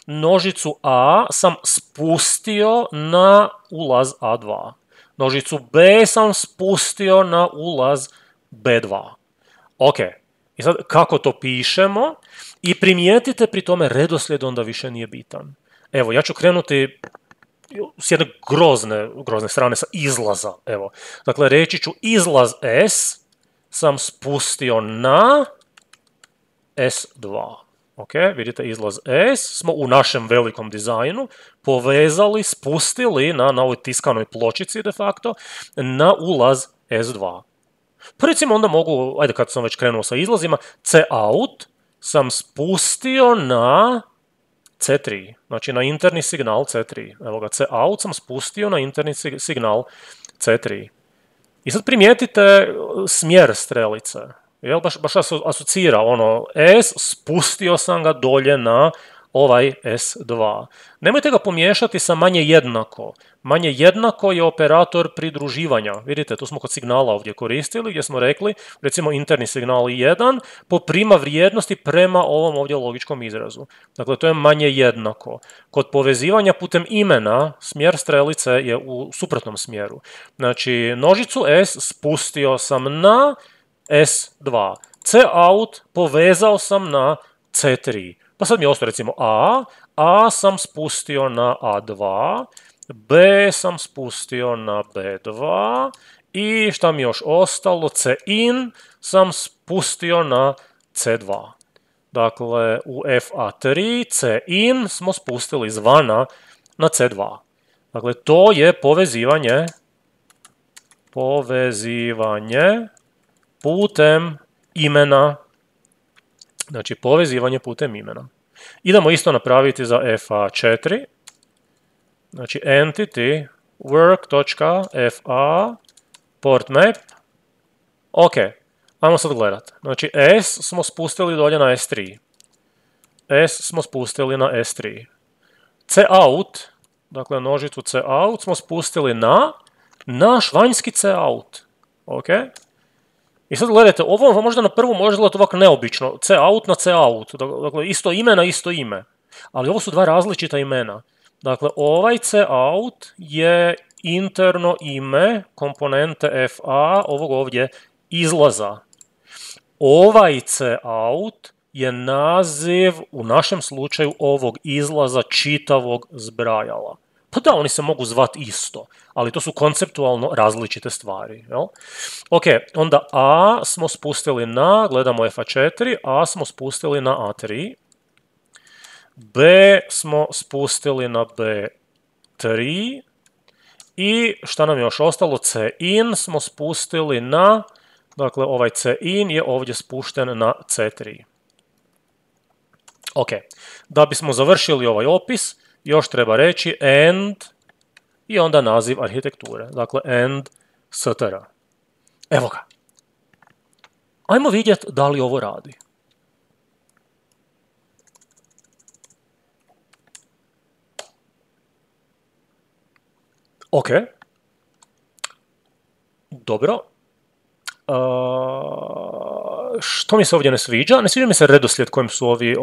Nožicu A sam spustio na ulaz A2. Nožicu B sam spustio na ulaz B2. Ok, i sad kako to pišemo? I primijetite pri tome redoslijed onda više nije bitan. Evo, ja ću krenuti s jedne grozne strane sa izlaza, evo. Dakle, reći ću izlaz S sam spustio na S2. Ok, vidite, izlaz S smo u našem velikom dizajnu povezali, spustili na ovoj tiskanoj pločici de facto na ulaz S2. Pa recimo onda mogu, ajde kad sam već krenuo sa izlazima, C out sam spustio na C3, znači na interni signal C3. Evo ga, C out sam spustio na interni signal C3. I sad primijetite smjer strelice. Jel, baš asocira ono S, spustio sam ga dolje na ovaj S2. Nemojte ga pomiješati sa manje jednako. Manje jednako je operator pridruživanja. Vidite, tu smo kod signala ovdje koristili, gdje smo rekli, recimo interni signal 1 poprima vrijednosti prema ovom ovdje logičkom izrazu. Dakle, to je manje jednako. Kod povezivanja putem imena, smjer strelice je u suprotnom smjeru. Znači, nožicu S spustio sam na S2. C out povezao sam na C3. Pa sad mi je ostao recimo A sam spustio na A2, B sam spustio na B2 i šta mi još ostalo, C in sam spustio na C2. Dakle, u FA3 C in smo spustili izvana na C2. Dakle, to je povezivanje putem imena. Znači, povezivanje putem imena. Idemo isto napraviti za FA4. Znači, entity work.fa port map. Ok, ajmo sad gledati. Znači, S smo spustili dolje na S3. S smo spustili na S3. C out, dakle nožicu C out smo spustili na naš vanjski C out. Ok. I sad gledajte, ovo možda na prvu može gledati ovako neobično, C out na C out, dakle isto ime na isto ime, ali ovo su dva različita imena. Dakle, ovaj C out je interno ime komponente FA ovog ovdje izlaza. Ovaj C out je naziv u našem slučaju ovog izlaza čitavog zbrajala. Pa da, oni se mogu zvati isto, ali to su konceptualno različite stvari. Jel? Ok, onda A smo spustili na, gledamo FA4, A smo spustili na A3, B smo spustili na B3 i šta nam je još ostalo? C in smo spustili na, dakle ovaj C in je ovdje spušten na C3. Ok, da bismo završili ovaj opis, još treba reći end i onda naziv arhitekture. Dakle, end str. Evo ga. Ajmo vidjeti da li ovo radi. Ok. Dobro. Što mi se ovdje ne sviđa? Ne sviđa mi se redoslijed kojim su ovi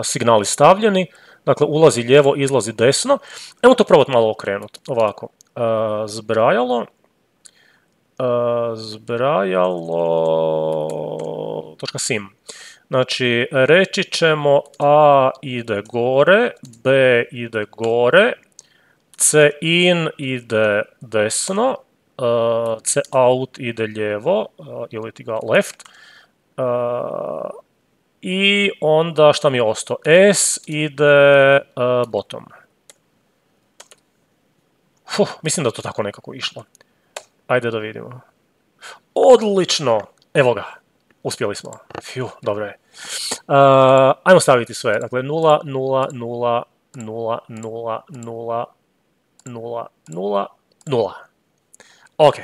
signali stavljeni. Dakle, ulazi lijevo, izlazi desno. Evo to probati malo okrenuti. Ovako. Zbrajalo.sim. Znači, reći ćemo A ide gore, B ide gore, C in ide desno, C out ide lijevo, ili ti ga left, i onda šta mi je ostao? S ide bottom. Mislim da to tako nekako išlo. Ajde da vidimo. Odlično! Evo ga. Uspjeli smo. Dobro je. Ajmo staviti sve. Dakle, 0, 0, 0, 0, 0, 0, 0, 0, 0. Ok.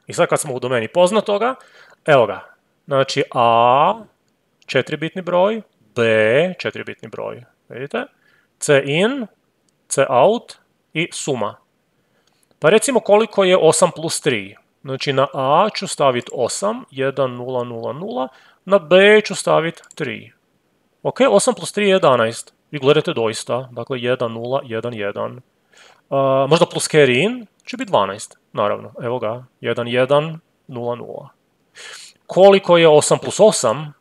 I sad kad smo u domeni poznatoga, evo ga. Znači, A, 4-bitni broj, B, 4-bitni broj. Vidite? C in, C out i suma. Pa recimo koliko je 8 plus 3. Znači na A ću staviti 8, 1, 0, 0, 0. Na B ću staviti 3. Ok, 8 plus 3 je 11. Vi gledate doista. Dakle, 1, 0, 1, 1. Možda plus carry in će biti 12. Naravno, evo ga. 1, 1, 0, 0. Koliko je 8 plus 8?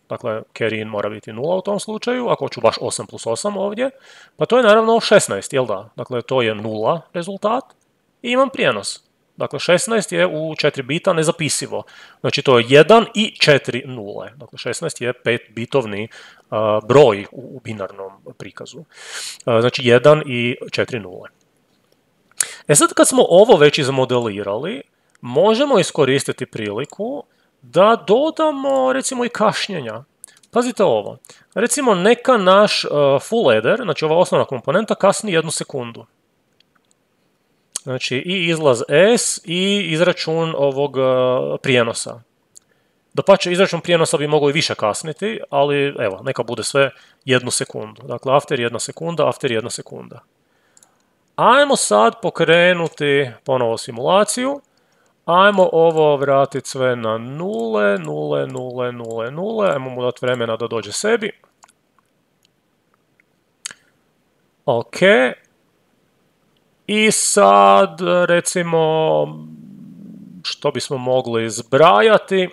Dakle, carry in mora biti 0 u tom slučaju, ako ću baš 8 plus 8 ovdje, pa to je naravno 16, jel da? Dakle, to je 0 rezultat i imam prijenos. Dakle, 16 je u 4 bita nezapisivo. Znači, to je 1 i 4 nule. Dakle, 16 je 5-bitovni broj u binarnom prikazu. Znači, 1 i 4 nule. E sad, kad smo ovo već izmodelirali, možemo iskoristiti priliku da dodamo, recimo, i kašnjenja. Pazite ovo. Recimo, neka naš full adder, znači ova osnovna komponenta, kasni 1 sekundu. Znači, i izlaz S i izračun ovog prijenosa. Dapače, izračun prijenosa bi mogao i više kasniti, ali evo, neka bude sve 1 sekundu. Dakle, after 1 sekunda, after 1 sekunda. Ajmo sad pokrenuti ponovo simulaciju. Ajmo ovo vratiti sve na nule, nule, nule, nule, nule. Ajmo mu dati vremena da dođe sebi. Ok. I sad, recimo, što bismo mogli zbrajati?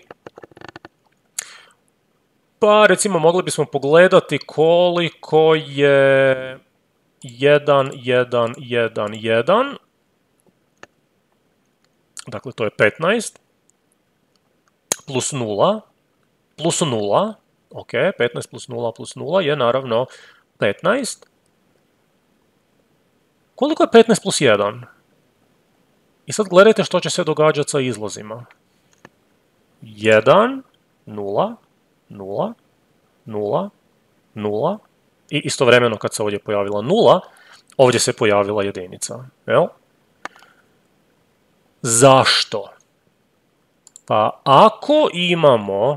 Pa, recimo, mogli bismo pogledati koliko je 1, 1, 1, 1. Dakle, to je 15. Plus 0. Plus 0. Ok, 15 plus 0 plus 0 je naravno 15. Koliko je 15 plus 1? I sad gledajte što će se događati sa izlazima. 1, 0, 0, 0, 0. I istovremeno kad se ovdje pojavila 0, ovdje se pojavila jedinica. Jel? Zašto? Pa ako imamo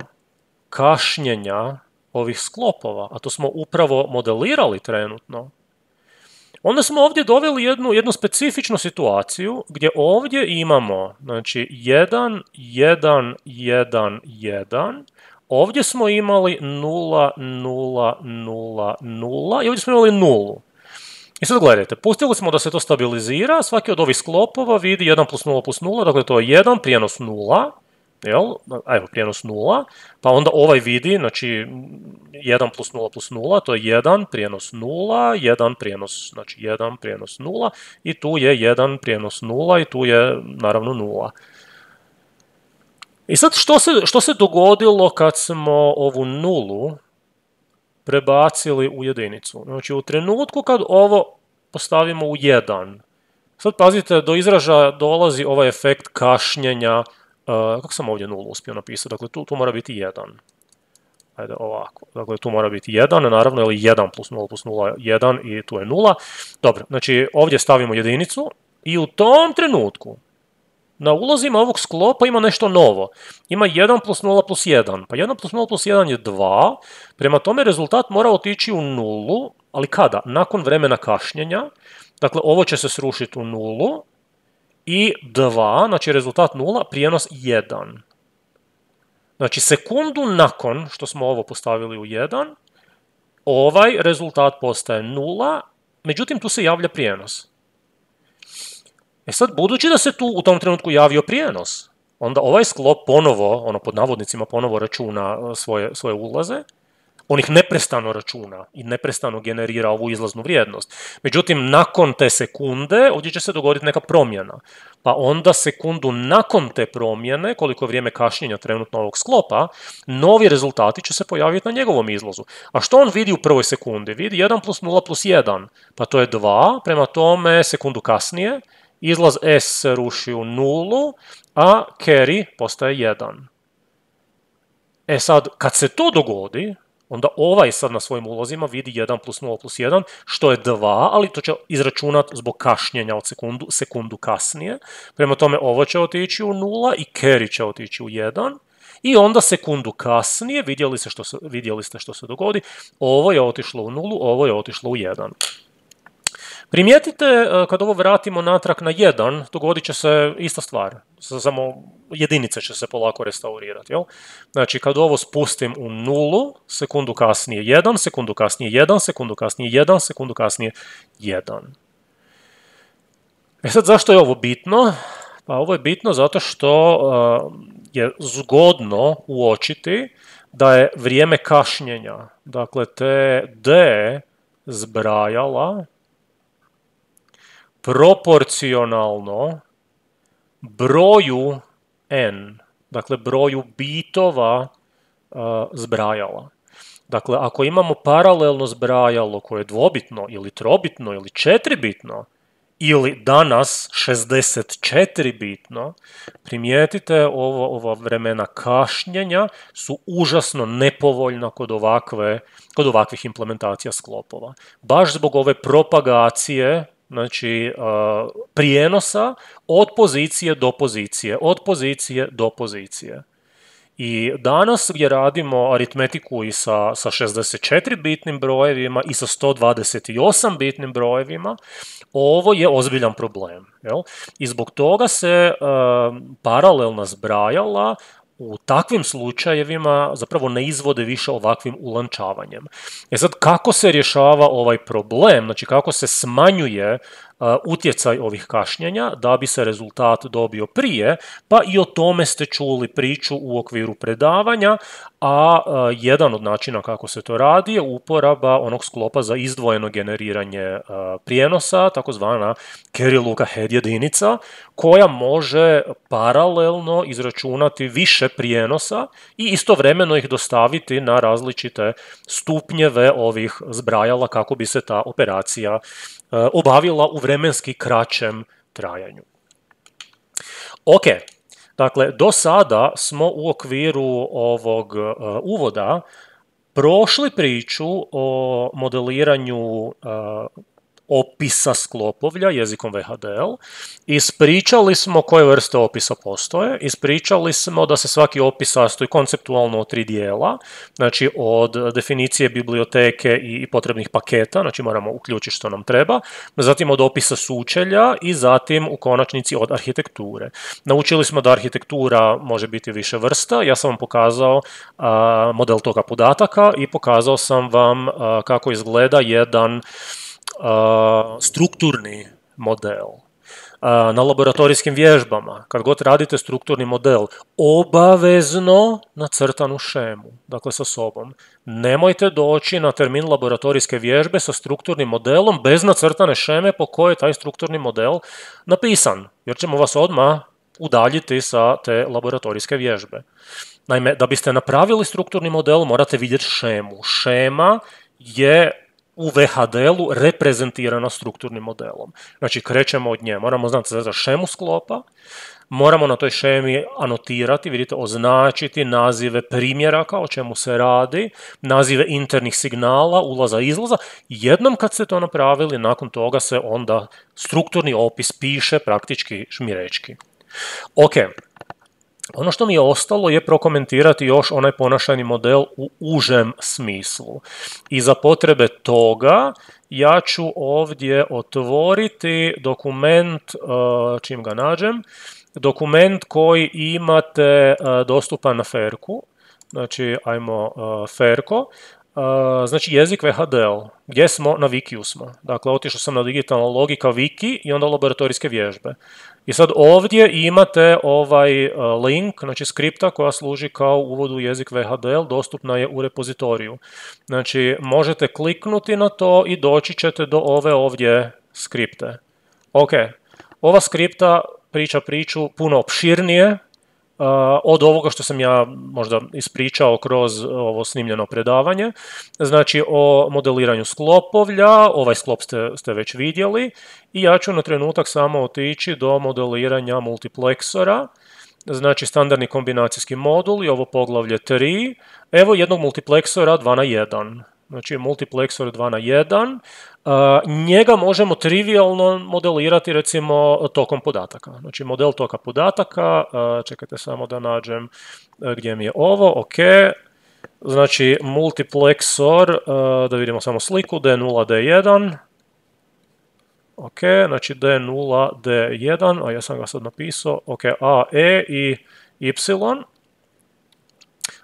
kašnjenja ovih sklopova, a to smo upravo modelirali trenutno, onda smo ovdje doveli jednu specifičnu situaciju gdje ovdje imamo, znači 1, 1, 1, 1, ovdje smo imali 0, 0, 0, 0 i ovdje smo imali 0. I sad gledajte, pustili smo da se to stabilizira, svaki od ovih sklopova vidi 1 plus 0 plus 0, dakle to je 1, prijenos 0, jel? Evo, prijenos 0, pa onda ovaj vidi, znači 1 plus 0 plus 0, to je 1, prijenos 0, 1, prijenos, znači 1, prijenos 0, i tu je 1, prijenos 0, i tu je naravno 0. I sad što se dogodilo kad smo ovu nulu prebacili u jedinicu? Znači u trenutku kad ovo postavimo u 1, sad pazite, do izražaja dolazi ovaj efekt kašnjenja. Kako sam ovdje nulu uspio napisati? Dakle, tu mora biti 1. Ajde, ovako. Dakle, tu mora biti 1, naravno, ili 1 plus 0 plus 0, 1 i tu je 0. Dobro, znači ovdje stavimo jedinicu i u tom trenutku na ulazima ovog sklopa ima nešto novo. Ima 1 plus 0 plus 1. Pa 1 plus 0 plus 1 je 2. Prema tome rezultat mora otići u nulu, ali kada? Nakon vremena kašnjenja. Dakle, ovo će se srušiti u nulu i 2, znači rezultat 0, prijenos 1. Znači, sekundu nakon što smo ovo postavili u 1, ovaj rezultat postaje 0, međutim tu se javlja prijenos. E sad, budući da se tu u tom trenutku javio prijenos, onda ovaj sklop ponovo, pod navodnicima ponovo računa svoje ulaze, on ih neprestano računa i neprestano generira ovu izlaznu vrijednost. Međutim, nakon te sekunde ovdje će se dogoditi neka promjena. Pa onda sekundu nakon te promjene, koliko je vrijeme kašnjenja trenutno ovog sklopa, novi rezultati će se pojaviti na njegovom izlazu. A što on vidi u prvoj sekundi? Vidi 1 plus 0 plus 1, pa to je 2, prema tome sekundu kasnije izlaz S se ruši u nulu, a carry postaje 1. E sad, kad se to dogodi, onda ovaj sad na svojim ulazima vidi 1 plus 0 plus 1, što je 2, ali to će izračunati zbog kašnjenja od sekundu kasnije. Prema tome, ovo će otići u 0 i carry će otići u 1. I onda sekundu kasnije, vidjeli ste što se dogodi, ovo je otišlo u 0, ovo je otišlo u 1. Primijetite, kad ovo vratimo natrag na 1, dogodit će se ista stvar, samo jedinice će se polako restaurirati, jel? Znači, kad ovo spustim u 0, sekundu kasnije 1, sekundu kasnije 1, sekundu kasnije 1, sekundu kasnije 1. E sad, zašto je ovo bitno? Pa ovo je bitno zato što je zgodno uočiti da je vrijeme kašnjenja, dakle, te D zbrajala proporcionalno broju n, dakle broju bitova zbrajala. Dakle, ako imamo paralelno zbrajalo koje je dvobitno ili trobitno ili četiribitno ili danas 64 bitno, primijetite ova vremena kašnjenja su užasno nepovoljna kod ovakvih implementacija sklopova. Baš zbog ove propagacije, znači prijenosa od pozicije do pozicije, od pozicije do pozicije. I danas gdje radimo aritmetiku i sa 64-bitnim brojevima i sa 128-bitnim brojevima, ovo je ozbiljan problem. Jel? I zbog toga se paralelna zbrajala u takvim slučajevima zapravo ne izvode više ovakvim ulančavanjem. E sad, kako se rješava ovaj problem, znači kako se smanjuje utjecaj ovih kašnjenja da bi se rezultat dobio prije, pa i o tome ste čuli priču u okviru predavanja, a jedan od načina kako se to radi je uporaba onog sklopa za izdvojeno generiranje prijenosa, takozvana Carry-Luka head jedinica, koja može paralelno izračunati više prijenosa i istovremeno ih dostaviti na različite stupnjeve ovih zbrajala kako bi se ta operacija obavila u vremenski kraćem trajanju. Ok, dakle, do sada smo u okviru ovog uvoda prošli priču o modeliranju opisa sklopovlja jezikom VHDL, ispričali smo koje vrste opisa postoje, ispričali smo da se svaki opis sastoji konceptualno od 3 dijela, znači od definicije biblioteke i potrebnih paketa, znači moramo uključiti što nam treba, zatim od opisa sučelja i zatim u konačnici od arhitekture. Naučili smo da arhitektura može biti više vrsta, ja sam vam pokazao model toka podataka i pokazao sam vam kako izgleda jedan strukturni model. Na laboratorijskim vježbama, kad god radite strukturni model, obavezno nacrtanu šemu, dakle sa sobom. Nemojte doći na termin laboratorijske vježbe sa strukturnim modelom bez nacrtane šeme po kojoj je taj strukturni model napisan, jer ćemo vas odmah udaljiti sa te laboratorijske vježbe. Naime, da biste napravili strukturni model, morate vidjeti šemu. Šema je u VHDL-u reprezentirana strukturnim modelom. Znači, krećemo od nje. Moramo znati za šemu sklopa, moramo na toj šemi anotirati, vidite, označiti nazive primjeraka, o čemu se radi, nazive internih signala, ulaza i izlaza. Jednom kad ste to napravili, nakon toga se onda strukturni opis piše praktički žmirečki. Ok. Ono što mi je ostalo je prokomentirati još onaj ponašajni model u užem smislu. I za potrebe toga ja ću ovdje otvoriti dokument, čim ga nađem, dokument koji imate dostupan na Ferku. Znači, ajmo Ferko. Znači jezik VHDL, gdje smo? Na Wikiju smo. Dakle, otišao sam na digitalna logika Wiki i onda laboratorijske vježbe. I sad ovdje imate ovaj link, znači skripta koja služi kao uvod u jezik VHDL, dostupna je u repozitoriju. Znači, možete kliknuti na to i doći ćete do ove ovdje skripte. Ok, ova skripta priča priču puno opširnije od ovoga što sam ja možda ispričao kroz ovo snimljeno predavanje. Znači o modeliranju sklopovlja, ovaj sklop ste već vidjeli i ja ću na trenutak samo otići do modeliranja multipleksora, znači standardni kombinacijski modul i ovo poglavlje 3, evo jednog multipleksora 2:1. Znači multiplexor 2:1, njega možemo trivialno modelirati recimo tokom podataka. Znači model toka podataka, čekajte samo da nađem gdje mi je ovo, ok. Znači multiplexor, da vidimo samo sliku, D0, D1. Ok, znači D0, D1, a ja sam ga sad napisao, ok, A, E i Y.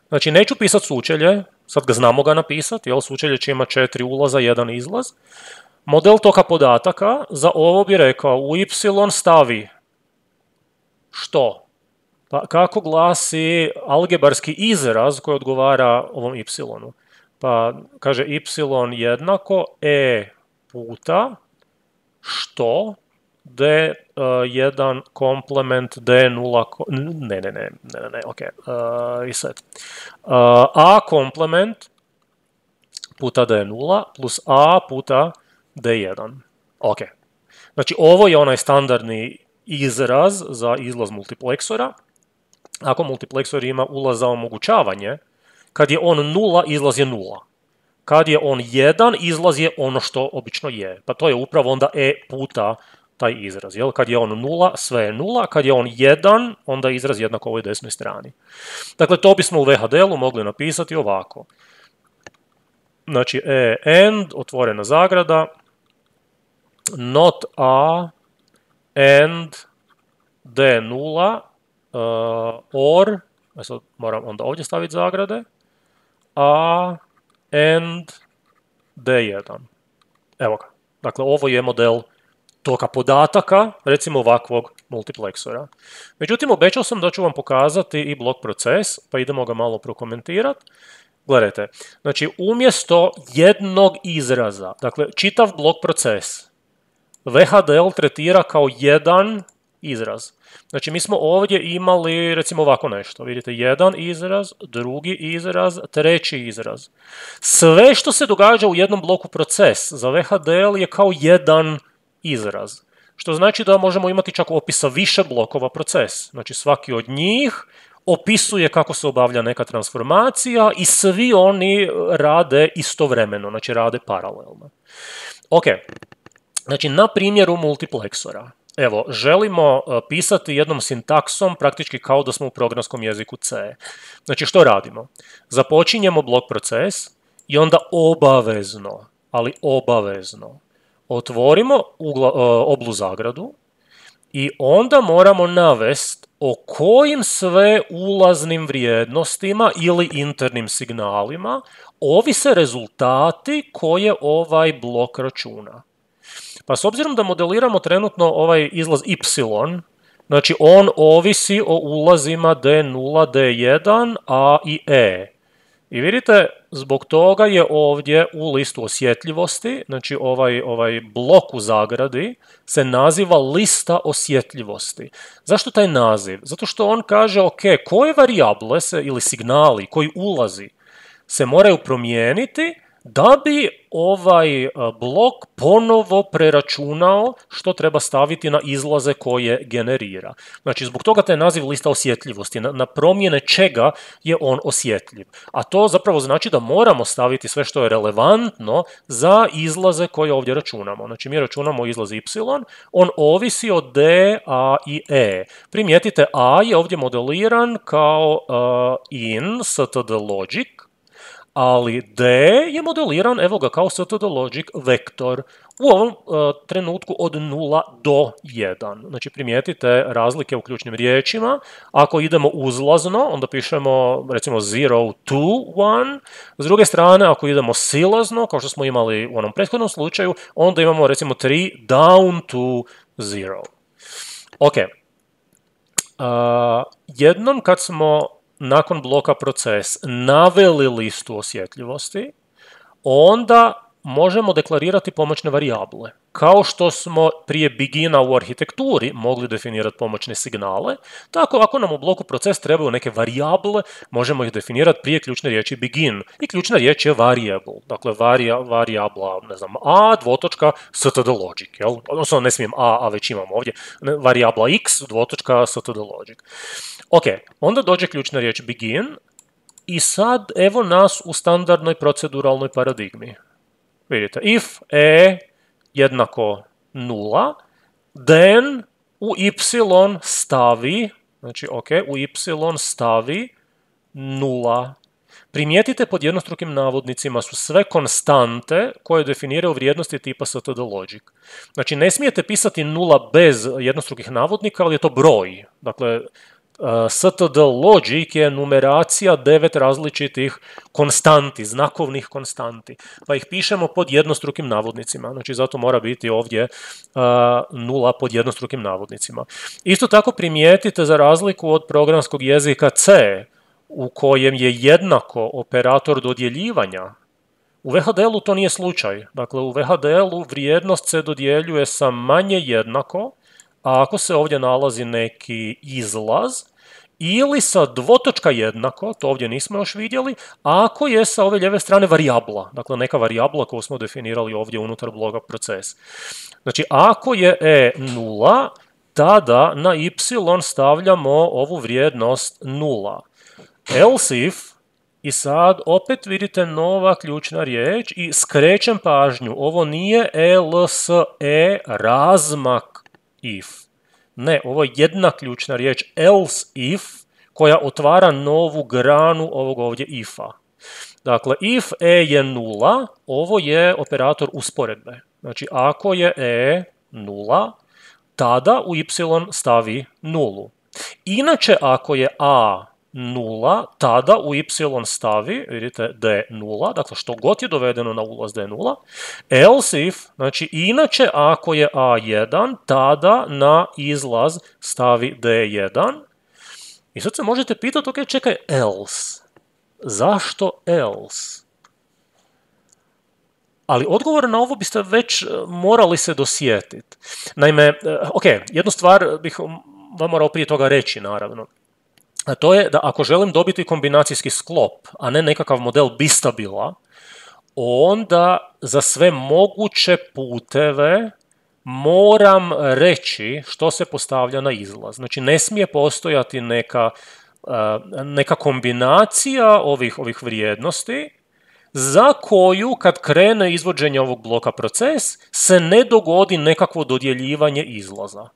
Znači neću pisati sučelje, sad ga znamo ga napisati, jel, sučelje će ima 4 ulaza, 1 izlaz. Model toka podataka, za ovo bi rekao, u Y stavi što? Pa kako glasi algebarski izraz koji odgovara ovom Y? Pa kaže Y jednako E puta što D1 komplement D0, ok, reset. A komplement puta D0 plus A puta D1. Ok. Znači ovo je onaj standardni izraz za izlaz multipleksora. Ako multiplexor ima ulaz za omogućavanje, kad je on 0, izlaz je 0. Kad je on 1, izlaz je ono što obično je. Pa to je upravo onda E puta taj izraz. Jel? Kad je on 0, sve je 0. Kad je on 1, onda je izraz jednak ovoj desnoj strani. Dakle, to bismo u VHDL-u mogli napisati ovako. Znači, end, otvorena zagrada, not a, end, d0, or, sad moram onda ovdje staviti zagrade, a, end, d1. Evo ga. Dakle, ovo je model toka podataka, recimo ovakvog multiplexora. Međutim, obećao sam da ću vam pokazati i blok proces, pa idemo ga malo prokomentirati. Gledajte, znači umjesto jednog izraza, dakle čitav blok proces, VHDL tretira kao jedan izraz. Znači mi smo ovdje imali recimo ovako nešto, vidite, jedan izraz, drugi izraz, treći izraz. Sve što se događa u jednom bloku proces za VHDL je kao jedan izraz. Što znači da možemo imati čak opisa više blokova proces. Znači svaki od njih opisuje kako se obavlja neka transformacija i svi oni rade istovremeno, znači rade paralelno. Ok, Znači, na primjeru multipleksora, evo, želimo pisati jednom sintaksom praktički kao da smo u programskom jeziku C. Znači, što radimo? Započinjemo blok proces i onda obavezno, ali obavezno, otvorimo oblu zagradu i onda moramo navesti o kojim sve ulaznim vrijednostima ili internim signalima ovise rezultati koje ovaj blok računa. Pa s obzirom da modeliramo trenutno ovaj izlaz y, znači on ovisi o ulazima D0, D1, A i E. I vidite, zbog toga je ovdje u listu osjetljivosti, znači ovaj blok u zagradi se naziva lista osjetljivosti. Zašto taj naziv? Zato što on kaže, ok, koje varijable se ili signali koji ulazi se moraju promijeniti da bi ovaj blok ponovo preračunao što treba staviti na izlaze koje generira. Znači, zbog toga taj naziv lista osjetljivosti, na promjene čega je on osjetljiv. A to zapravo znači da moramo staviti sve što je relevantno za izlaze koje ovdje računamo. Znači, mi računamo izlaz y, on ovisi od D, A i E. Primijetite, A je ovdje modeliran kao in std logic, ali D je modeliran, evo ga, kao std logic vektor u ovom trenutku od 0 do 1. Znači, primijetite razlike u ključnim riječima. Ako idemo uzlazno, onda pišemo recimo 0 to 1. S druge strane, ako idemo silazno, kao što smo imali u onom prethodnom slučaju, onda imamo recimo 3 down to 0. Ok. Jednom kad smo nakon bloka proces naveli listu osjetljivosti, onda možemo deklarirati pomoćne varijable. Kao što smo prije begina u arhitekturi mogli definirati pomoćne signale, tako ako nam u bloku proces trebaju neke varijable, možemo ih definirati prije ključne riječi begin. I ključna riječ je variable, dakle varijabla, ne znam, a dvotočka std logic, jel? Odnosno ne smijem a već imamo ovdje, varijabla x dvotočka std logic. Ok, onda dođe ključna riječ begin i sad evo nas u standardnoj proceduralnoj paradigmi. Vidite, if e jednako 0, then u y stavi, znači ok, u y stavi 0. Primijetite, pod jednostrukim navodnicima su sve konstante koje definiraju vrijednosti tipa std logic. Znači, ne smijete pisati 0 bez jednostrukih navodnika, ali je to broj. Dakle, std logic je numeracija 9 različitih konstanti, znakovnih konstanti, pa ih pišemo pod jednostrukim navodnicima, znači zato mora biti ovdje 0 pod jednostrukim navodnicima. Isto tako primijetite, za razliku od programskog jezika C, u kojem je jednako operator dodjeljivanja, u VHDL-u to nije slučaj. Dakle, u VHDL-u vrijednost se dodjeljuje sa manje jednako, a ako se ovdje nalazi neki izlaz, ili sa dvotočka jednako, to ovdje nismo još vidjeli, ako je sa ove lijeve strane varijabla, dakle neka varijabla koju smo definirali ovdje unutar bloka proces. Znači, ako je e 0, tada na y stavljamo ovu vrijednost 0. Else if, i sad opet vidite nova ključna riječ i skrećem pažnju, ovo nije else razmak if. Ne, ovo je jedna ključna riječ, else if, koja otvara novu granu ovog ovdje if-a. Dakle, if e je 0, ovo je operator usporedbe. Znači, ako je e 0, tada u y stavi 0. Inače, ako je a 0, tada u y stavi, vidite, d0, dakle što god je dovedeno na ulaz d0, else if, znači inače ako je a1, tada na izlaz stavi d1. I sad se možete pitati, ok, čekaj, else. Zašto else? Ali odgovor na ovo biste već morali se dosjetiti. Naime, ok, jednu stvar bih vam morao prije toga reći, naravno. A to je da ako želim dobiti kombinacijski sklop, a ne nekakav model bistabila, onda za sve moguće puteve moram reći što se postavlja na izlaz. Znači, ne smije postojati neka kombinacija ovih vrijednosti, za koju kad krene izvođenje ovog bloka proces se ne dogodi nekakvo dodjeljivanje izlaza.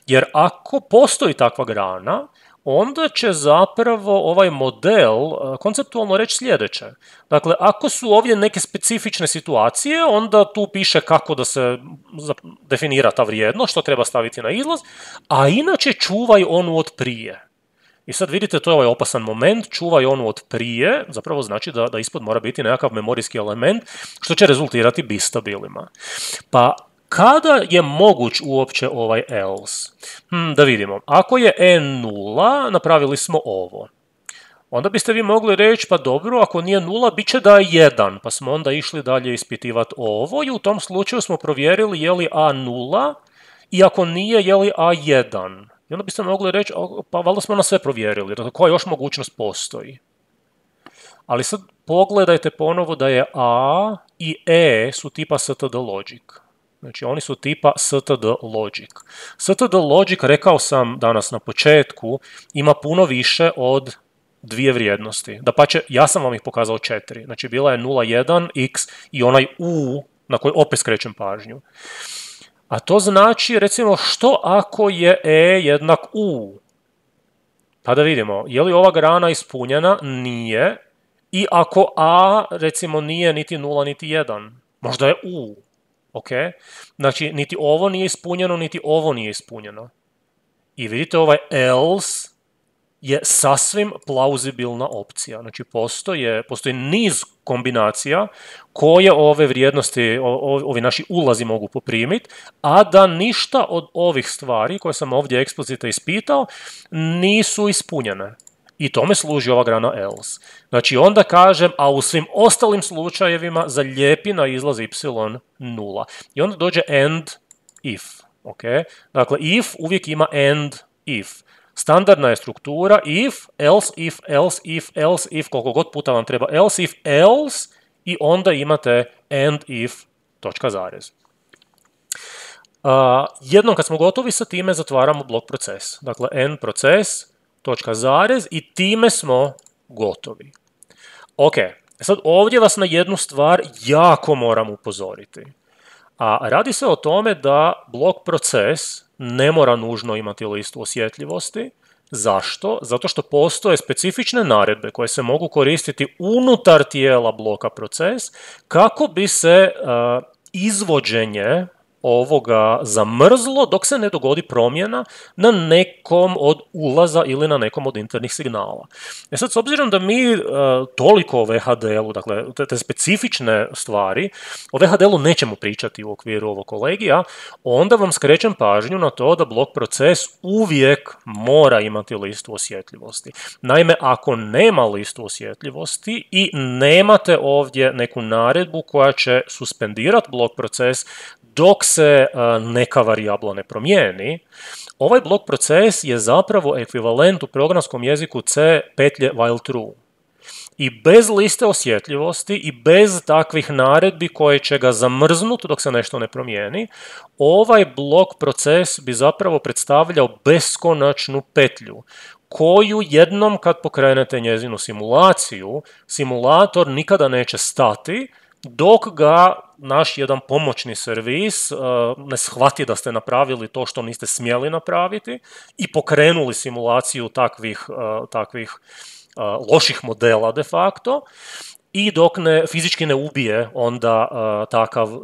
Jer ako postoji takva grana, onda će zapravo ovaj model konceptualno reći sljedeće. Dakle, ako su ovdje neke specifične situacije, onda tu piše kako da se definira ta vrijednost, što treba staviti na izlaz, a inače čuvaj onu od prije. I sad vidite, to je ovaj opasan moment, čuvaj onu od prije, zapravo znači da ispod mora biti nekakav memorijski element, što će rezultirati bistabilima. Pa kada je moguć uopće ovaj else? Da vidimo. Ako je n0, napravili smo ovo. Onda biste vi mogli reći, pa dobro, ako nije 0, bit će da je 1, pa smo onda išli dalje ispitivati ovo i u tom slučaju smo provjerili je li a 0 i ako nije, je li a 1. I onda biste mogli reći, pa valjda smo na sve provjerili, dakle koja još mogućnost postoji. Ali sad pogledajte ponovo da je a i e su tipa std logic. Znači oni su tipa std logic. Std logic, rekao sam danas na početku, ima puno više od dvije vrijednosti. Dapače, ja sam vam ih pokazao 4. Znači bila je 0, 1, x i onaj u na koji opet skrećem pažnju. A to znači, recimo, što ako je e jednak u? Pa da vidimo, je li ova grana ispunjena? Nije. I ako a, recimo, nije niti 0, niti 1, možda je u. Ok? Znači, niti ovo nije ispunjeno, niti ovo nije ispunjeno. I vidite, ovaj else je sasvim plauzibilna opcija. Znači, postoji niz kombinacija koje ove vrijednosti, ovi naši ulazi mogu poprimiti, a da ništa od ovih stvari koje sam ovdje eksplicitno ispitao nisu ispunjene. I tome služi ova grana else. Znači, onda kažem, a u svim ostalim slučajevima zalijepi na izlaz y 0. I onda dođe and if. Okay? Dakle, if uvijek ima and if. Standardna je struktura if, else if, else if, else if, koliko god puta vam treba else if, else i onda imate and if, točka zarez. Jednom kad smo gotovi sa time zatvaramo blok proces. Dakle, end proces, točka zarez i time smo gotovi. Ok, sad ovdje vas na jednu stvar jako moram upozoriti. A radi se o tome da blok proces ne mora nužno imati listu osjetljivosti. Zašto? Zato što postoje specifične naredbe koje se mogu koristiti unutar tijela bloka proces kako bi se izvođenje ovoga zamrzlo dok se ne dogodi promjena na nekom od ulaza ili na nekom od internih signala. E sad, s obzirom da mi toliko o VHDL-u, dakle te specifične stvari, o VHDL-u nećemo pričati u okviru ovog kolegija, onda vam skrećem pažnju na to da blok proces uvijek mora imati listu osjetljivosti. Naime, ako nema listu osjetljivosti i nemate ovdje neku naredbu koja će suspendirati blok proces dok se neka varijabla ne promijeni, ovaj blok proces je zapravo ekvivalent u programskom jeziku C petlje while true. I bez liste osjetljivosti i bez takvih naredbi koje će ga zamrznuti dok se nešto ne promijeni, ovaj blok proces bi zapravo predstavljao beskonačnu petlju koju jednom kad pokrenete njezinu simulaciju, simulator nikada neće stati dok ga naš jedan pomoćni servis ne shvati da ste napravili to što niste smjeli napraviti i pokrenuli simulaciju takvih loših modela de facto i dok fizički ne ubije onda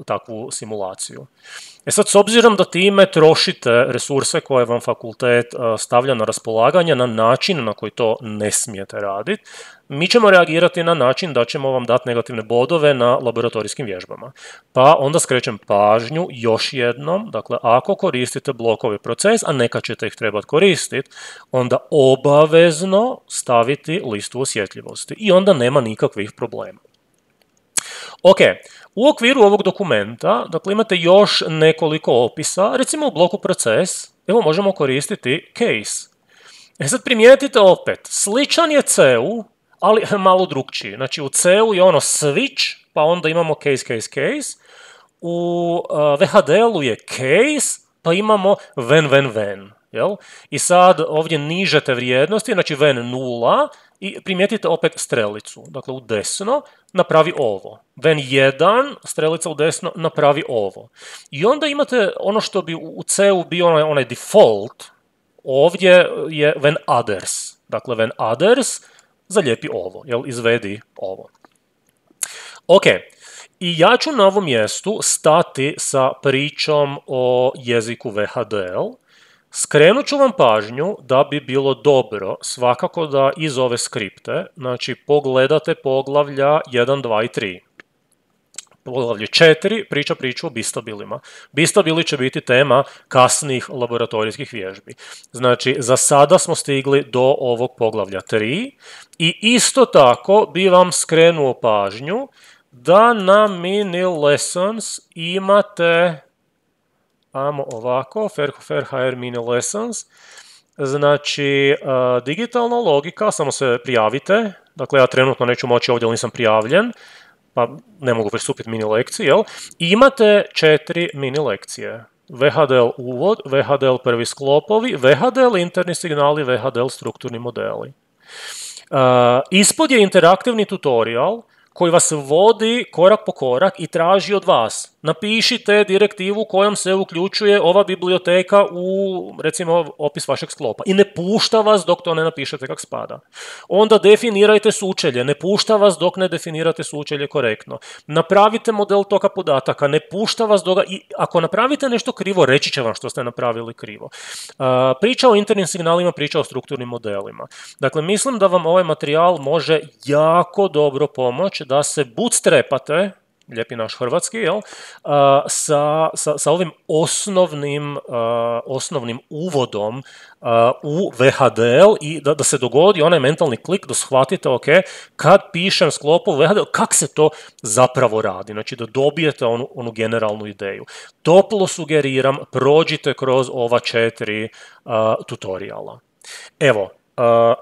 takvu simulaciju. E sad, s obzirom da time trošite resurse koje vam fakultet stavlja na raspolaganje na način na koji to ne smijete raditi, mi ćemo reagirati na način da ćemo vam dati negativne bodove na laboratorijskim vježbama. Pa onda skrećem pažnju još jednom, dakle, ako koristite blokove proces, a neka ćete ih trebati koristiti, onda obavezno staviti listu osjetljivosti i onda nema nikakvih problema. Ok, u okviru ovog dokumenta, dakle, imate još nekoliko opisa, recimo u bloku proces, evo možemo koristiti case. E sad primijetite opet, sličan je C-u, ali malo drukčiji. Znači u C-u je ono switch, pa onda imamo case. U VHDL-u je case, pa imamo when. jel? I sad ovdje nižete vrijednosti, znači ven 0 i primijetite opet strelicu. Dakle, u desno napravi ovo. Ven 1, strelica u desno, napravi ovo. I onda imate ono što bi u C-u bio onaj default, ovdje je ven others. Dakle, ven others, zalijepi ovo, jel? Izvedi ovo. Ok, i ja ću na ovom mjestu stati sa pričom o jeziku VHDL. Skrenut ću vam pažnju da bi bilo dobro svakako da iz ove skripte, znači pogledate poglavlja 1, 2 i 3. Poglavlje 4 priča priču o bistabilima. Bistabili će biti tema kasnijih laboratorijskih vježbi. Znači, za sada smo stigli do ovog poglavlja 3 i isto tako bi vam skrenuo pažnju da na mini lessons imate, ajmo ovako, FairHR mini lessons, znači digitalna logika, samo se prijavite, dakle ja trenutno neću moći ovdje, ali nisam prijavljen, pa ne mogu pristupiti mini lekciji, jel? I imate 4 mini lekcije. VHDL uvod, VHDL prvi sklopovi, VHDL interni signali, VHDL strukturni modeli. Ispod je interaktivni tutorial koji vas vodi korak po korak i traži od vas. Napišite direktivu kojom se uključuje ova biblioteka u, recimo, opis vašeg sklopa. I ne pušta vas dok to ne napišete kak spada. Onda definirajte sučelje. Ne pušta vas dok ne definirate sučelje korektno. Napravite model toka podataka. Ne pušta vas dok... I ako napravite nešto krivo, reći će vam što ste napravili krivo. Priča o internim signalima, priča o strukturnim modelima. Dakle, mislim da vam ovaj materijal može jako dobro pomoći da se bootstrapate, lijepi naš hrvatski, jel? Sa ovim osnovnim uvodom u VHDL i da se dogodi onaj mentalni klik da shvatite, ok, kad pišem sklopu VHDL, kak se to zapravo radi, znači da dobijete onu generalnu ideju. Toplo sugeriram, prođite kroz ova 4 tutoriala. Evo,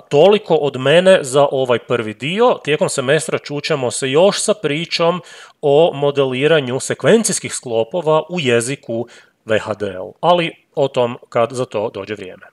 toliko od mene za ovaj prvi dio. Tijekom semestra čućemo se još sa pričom o modeliranju sekvencijskih sklopova u jeziku VHDL, ali o tom kad za to dođe vrijeme.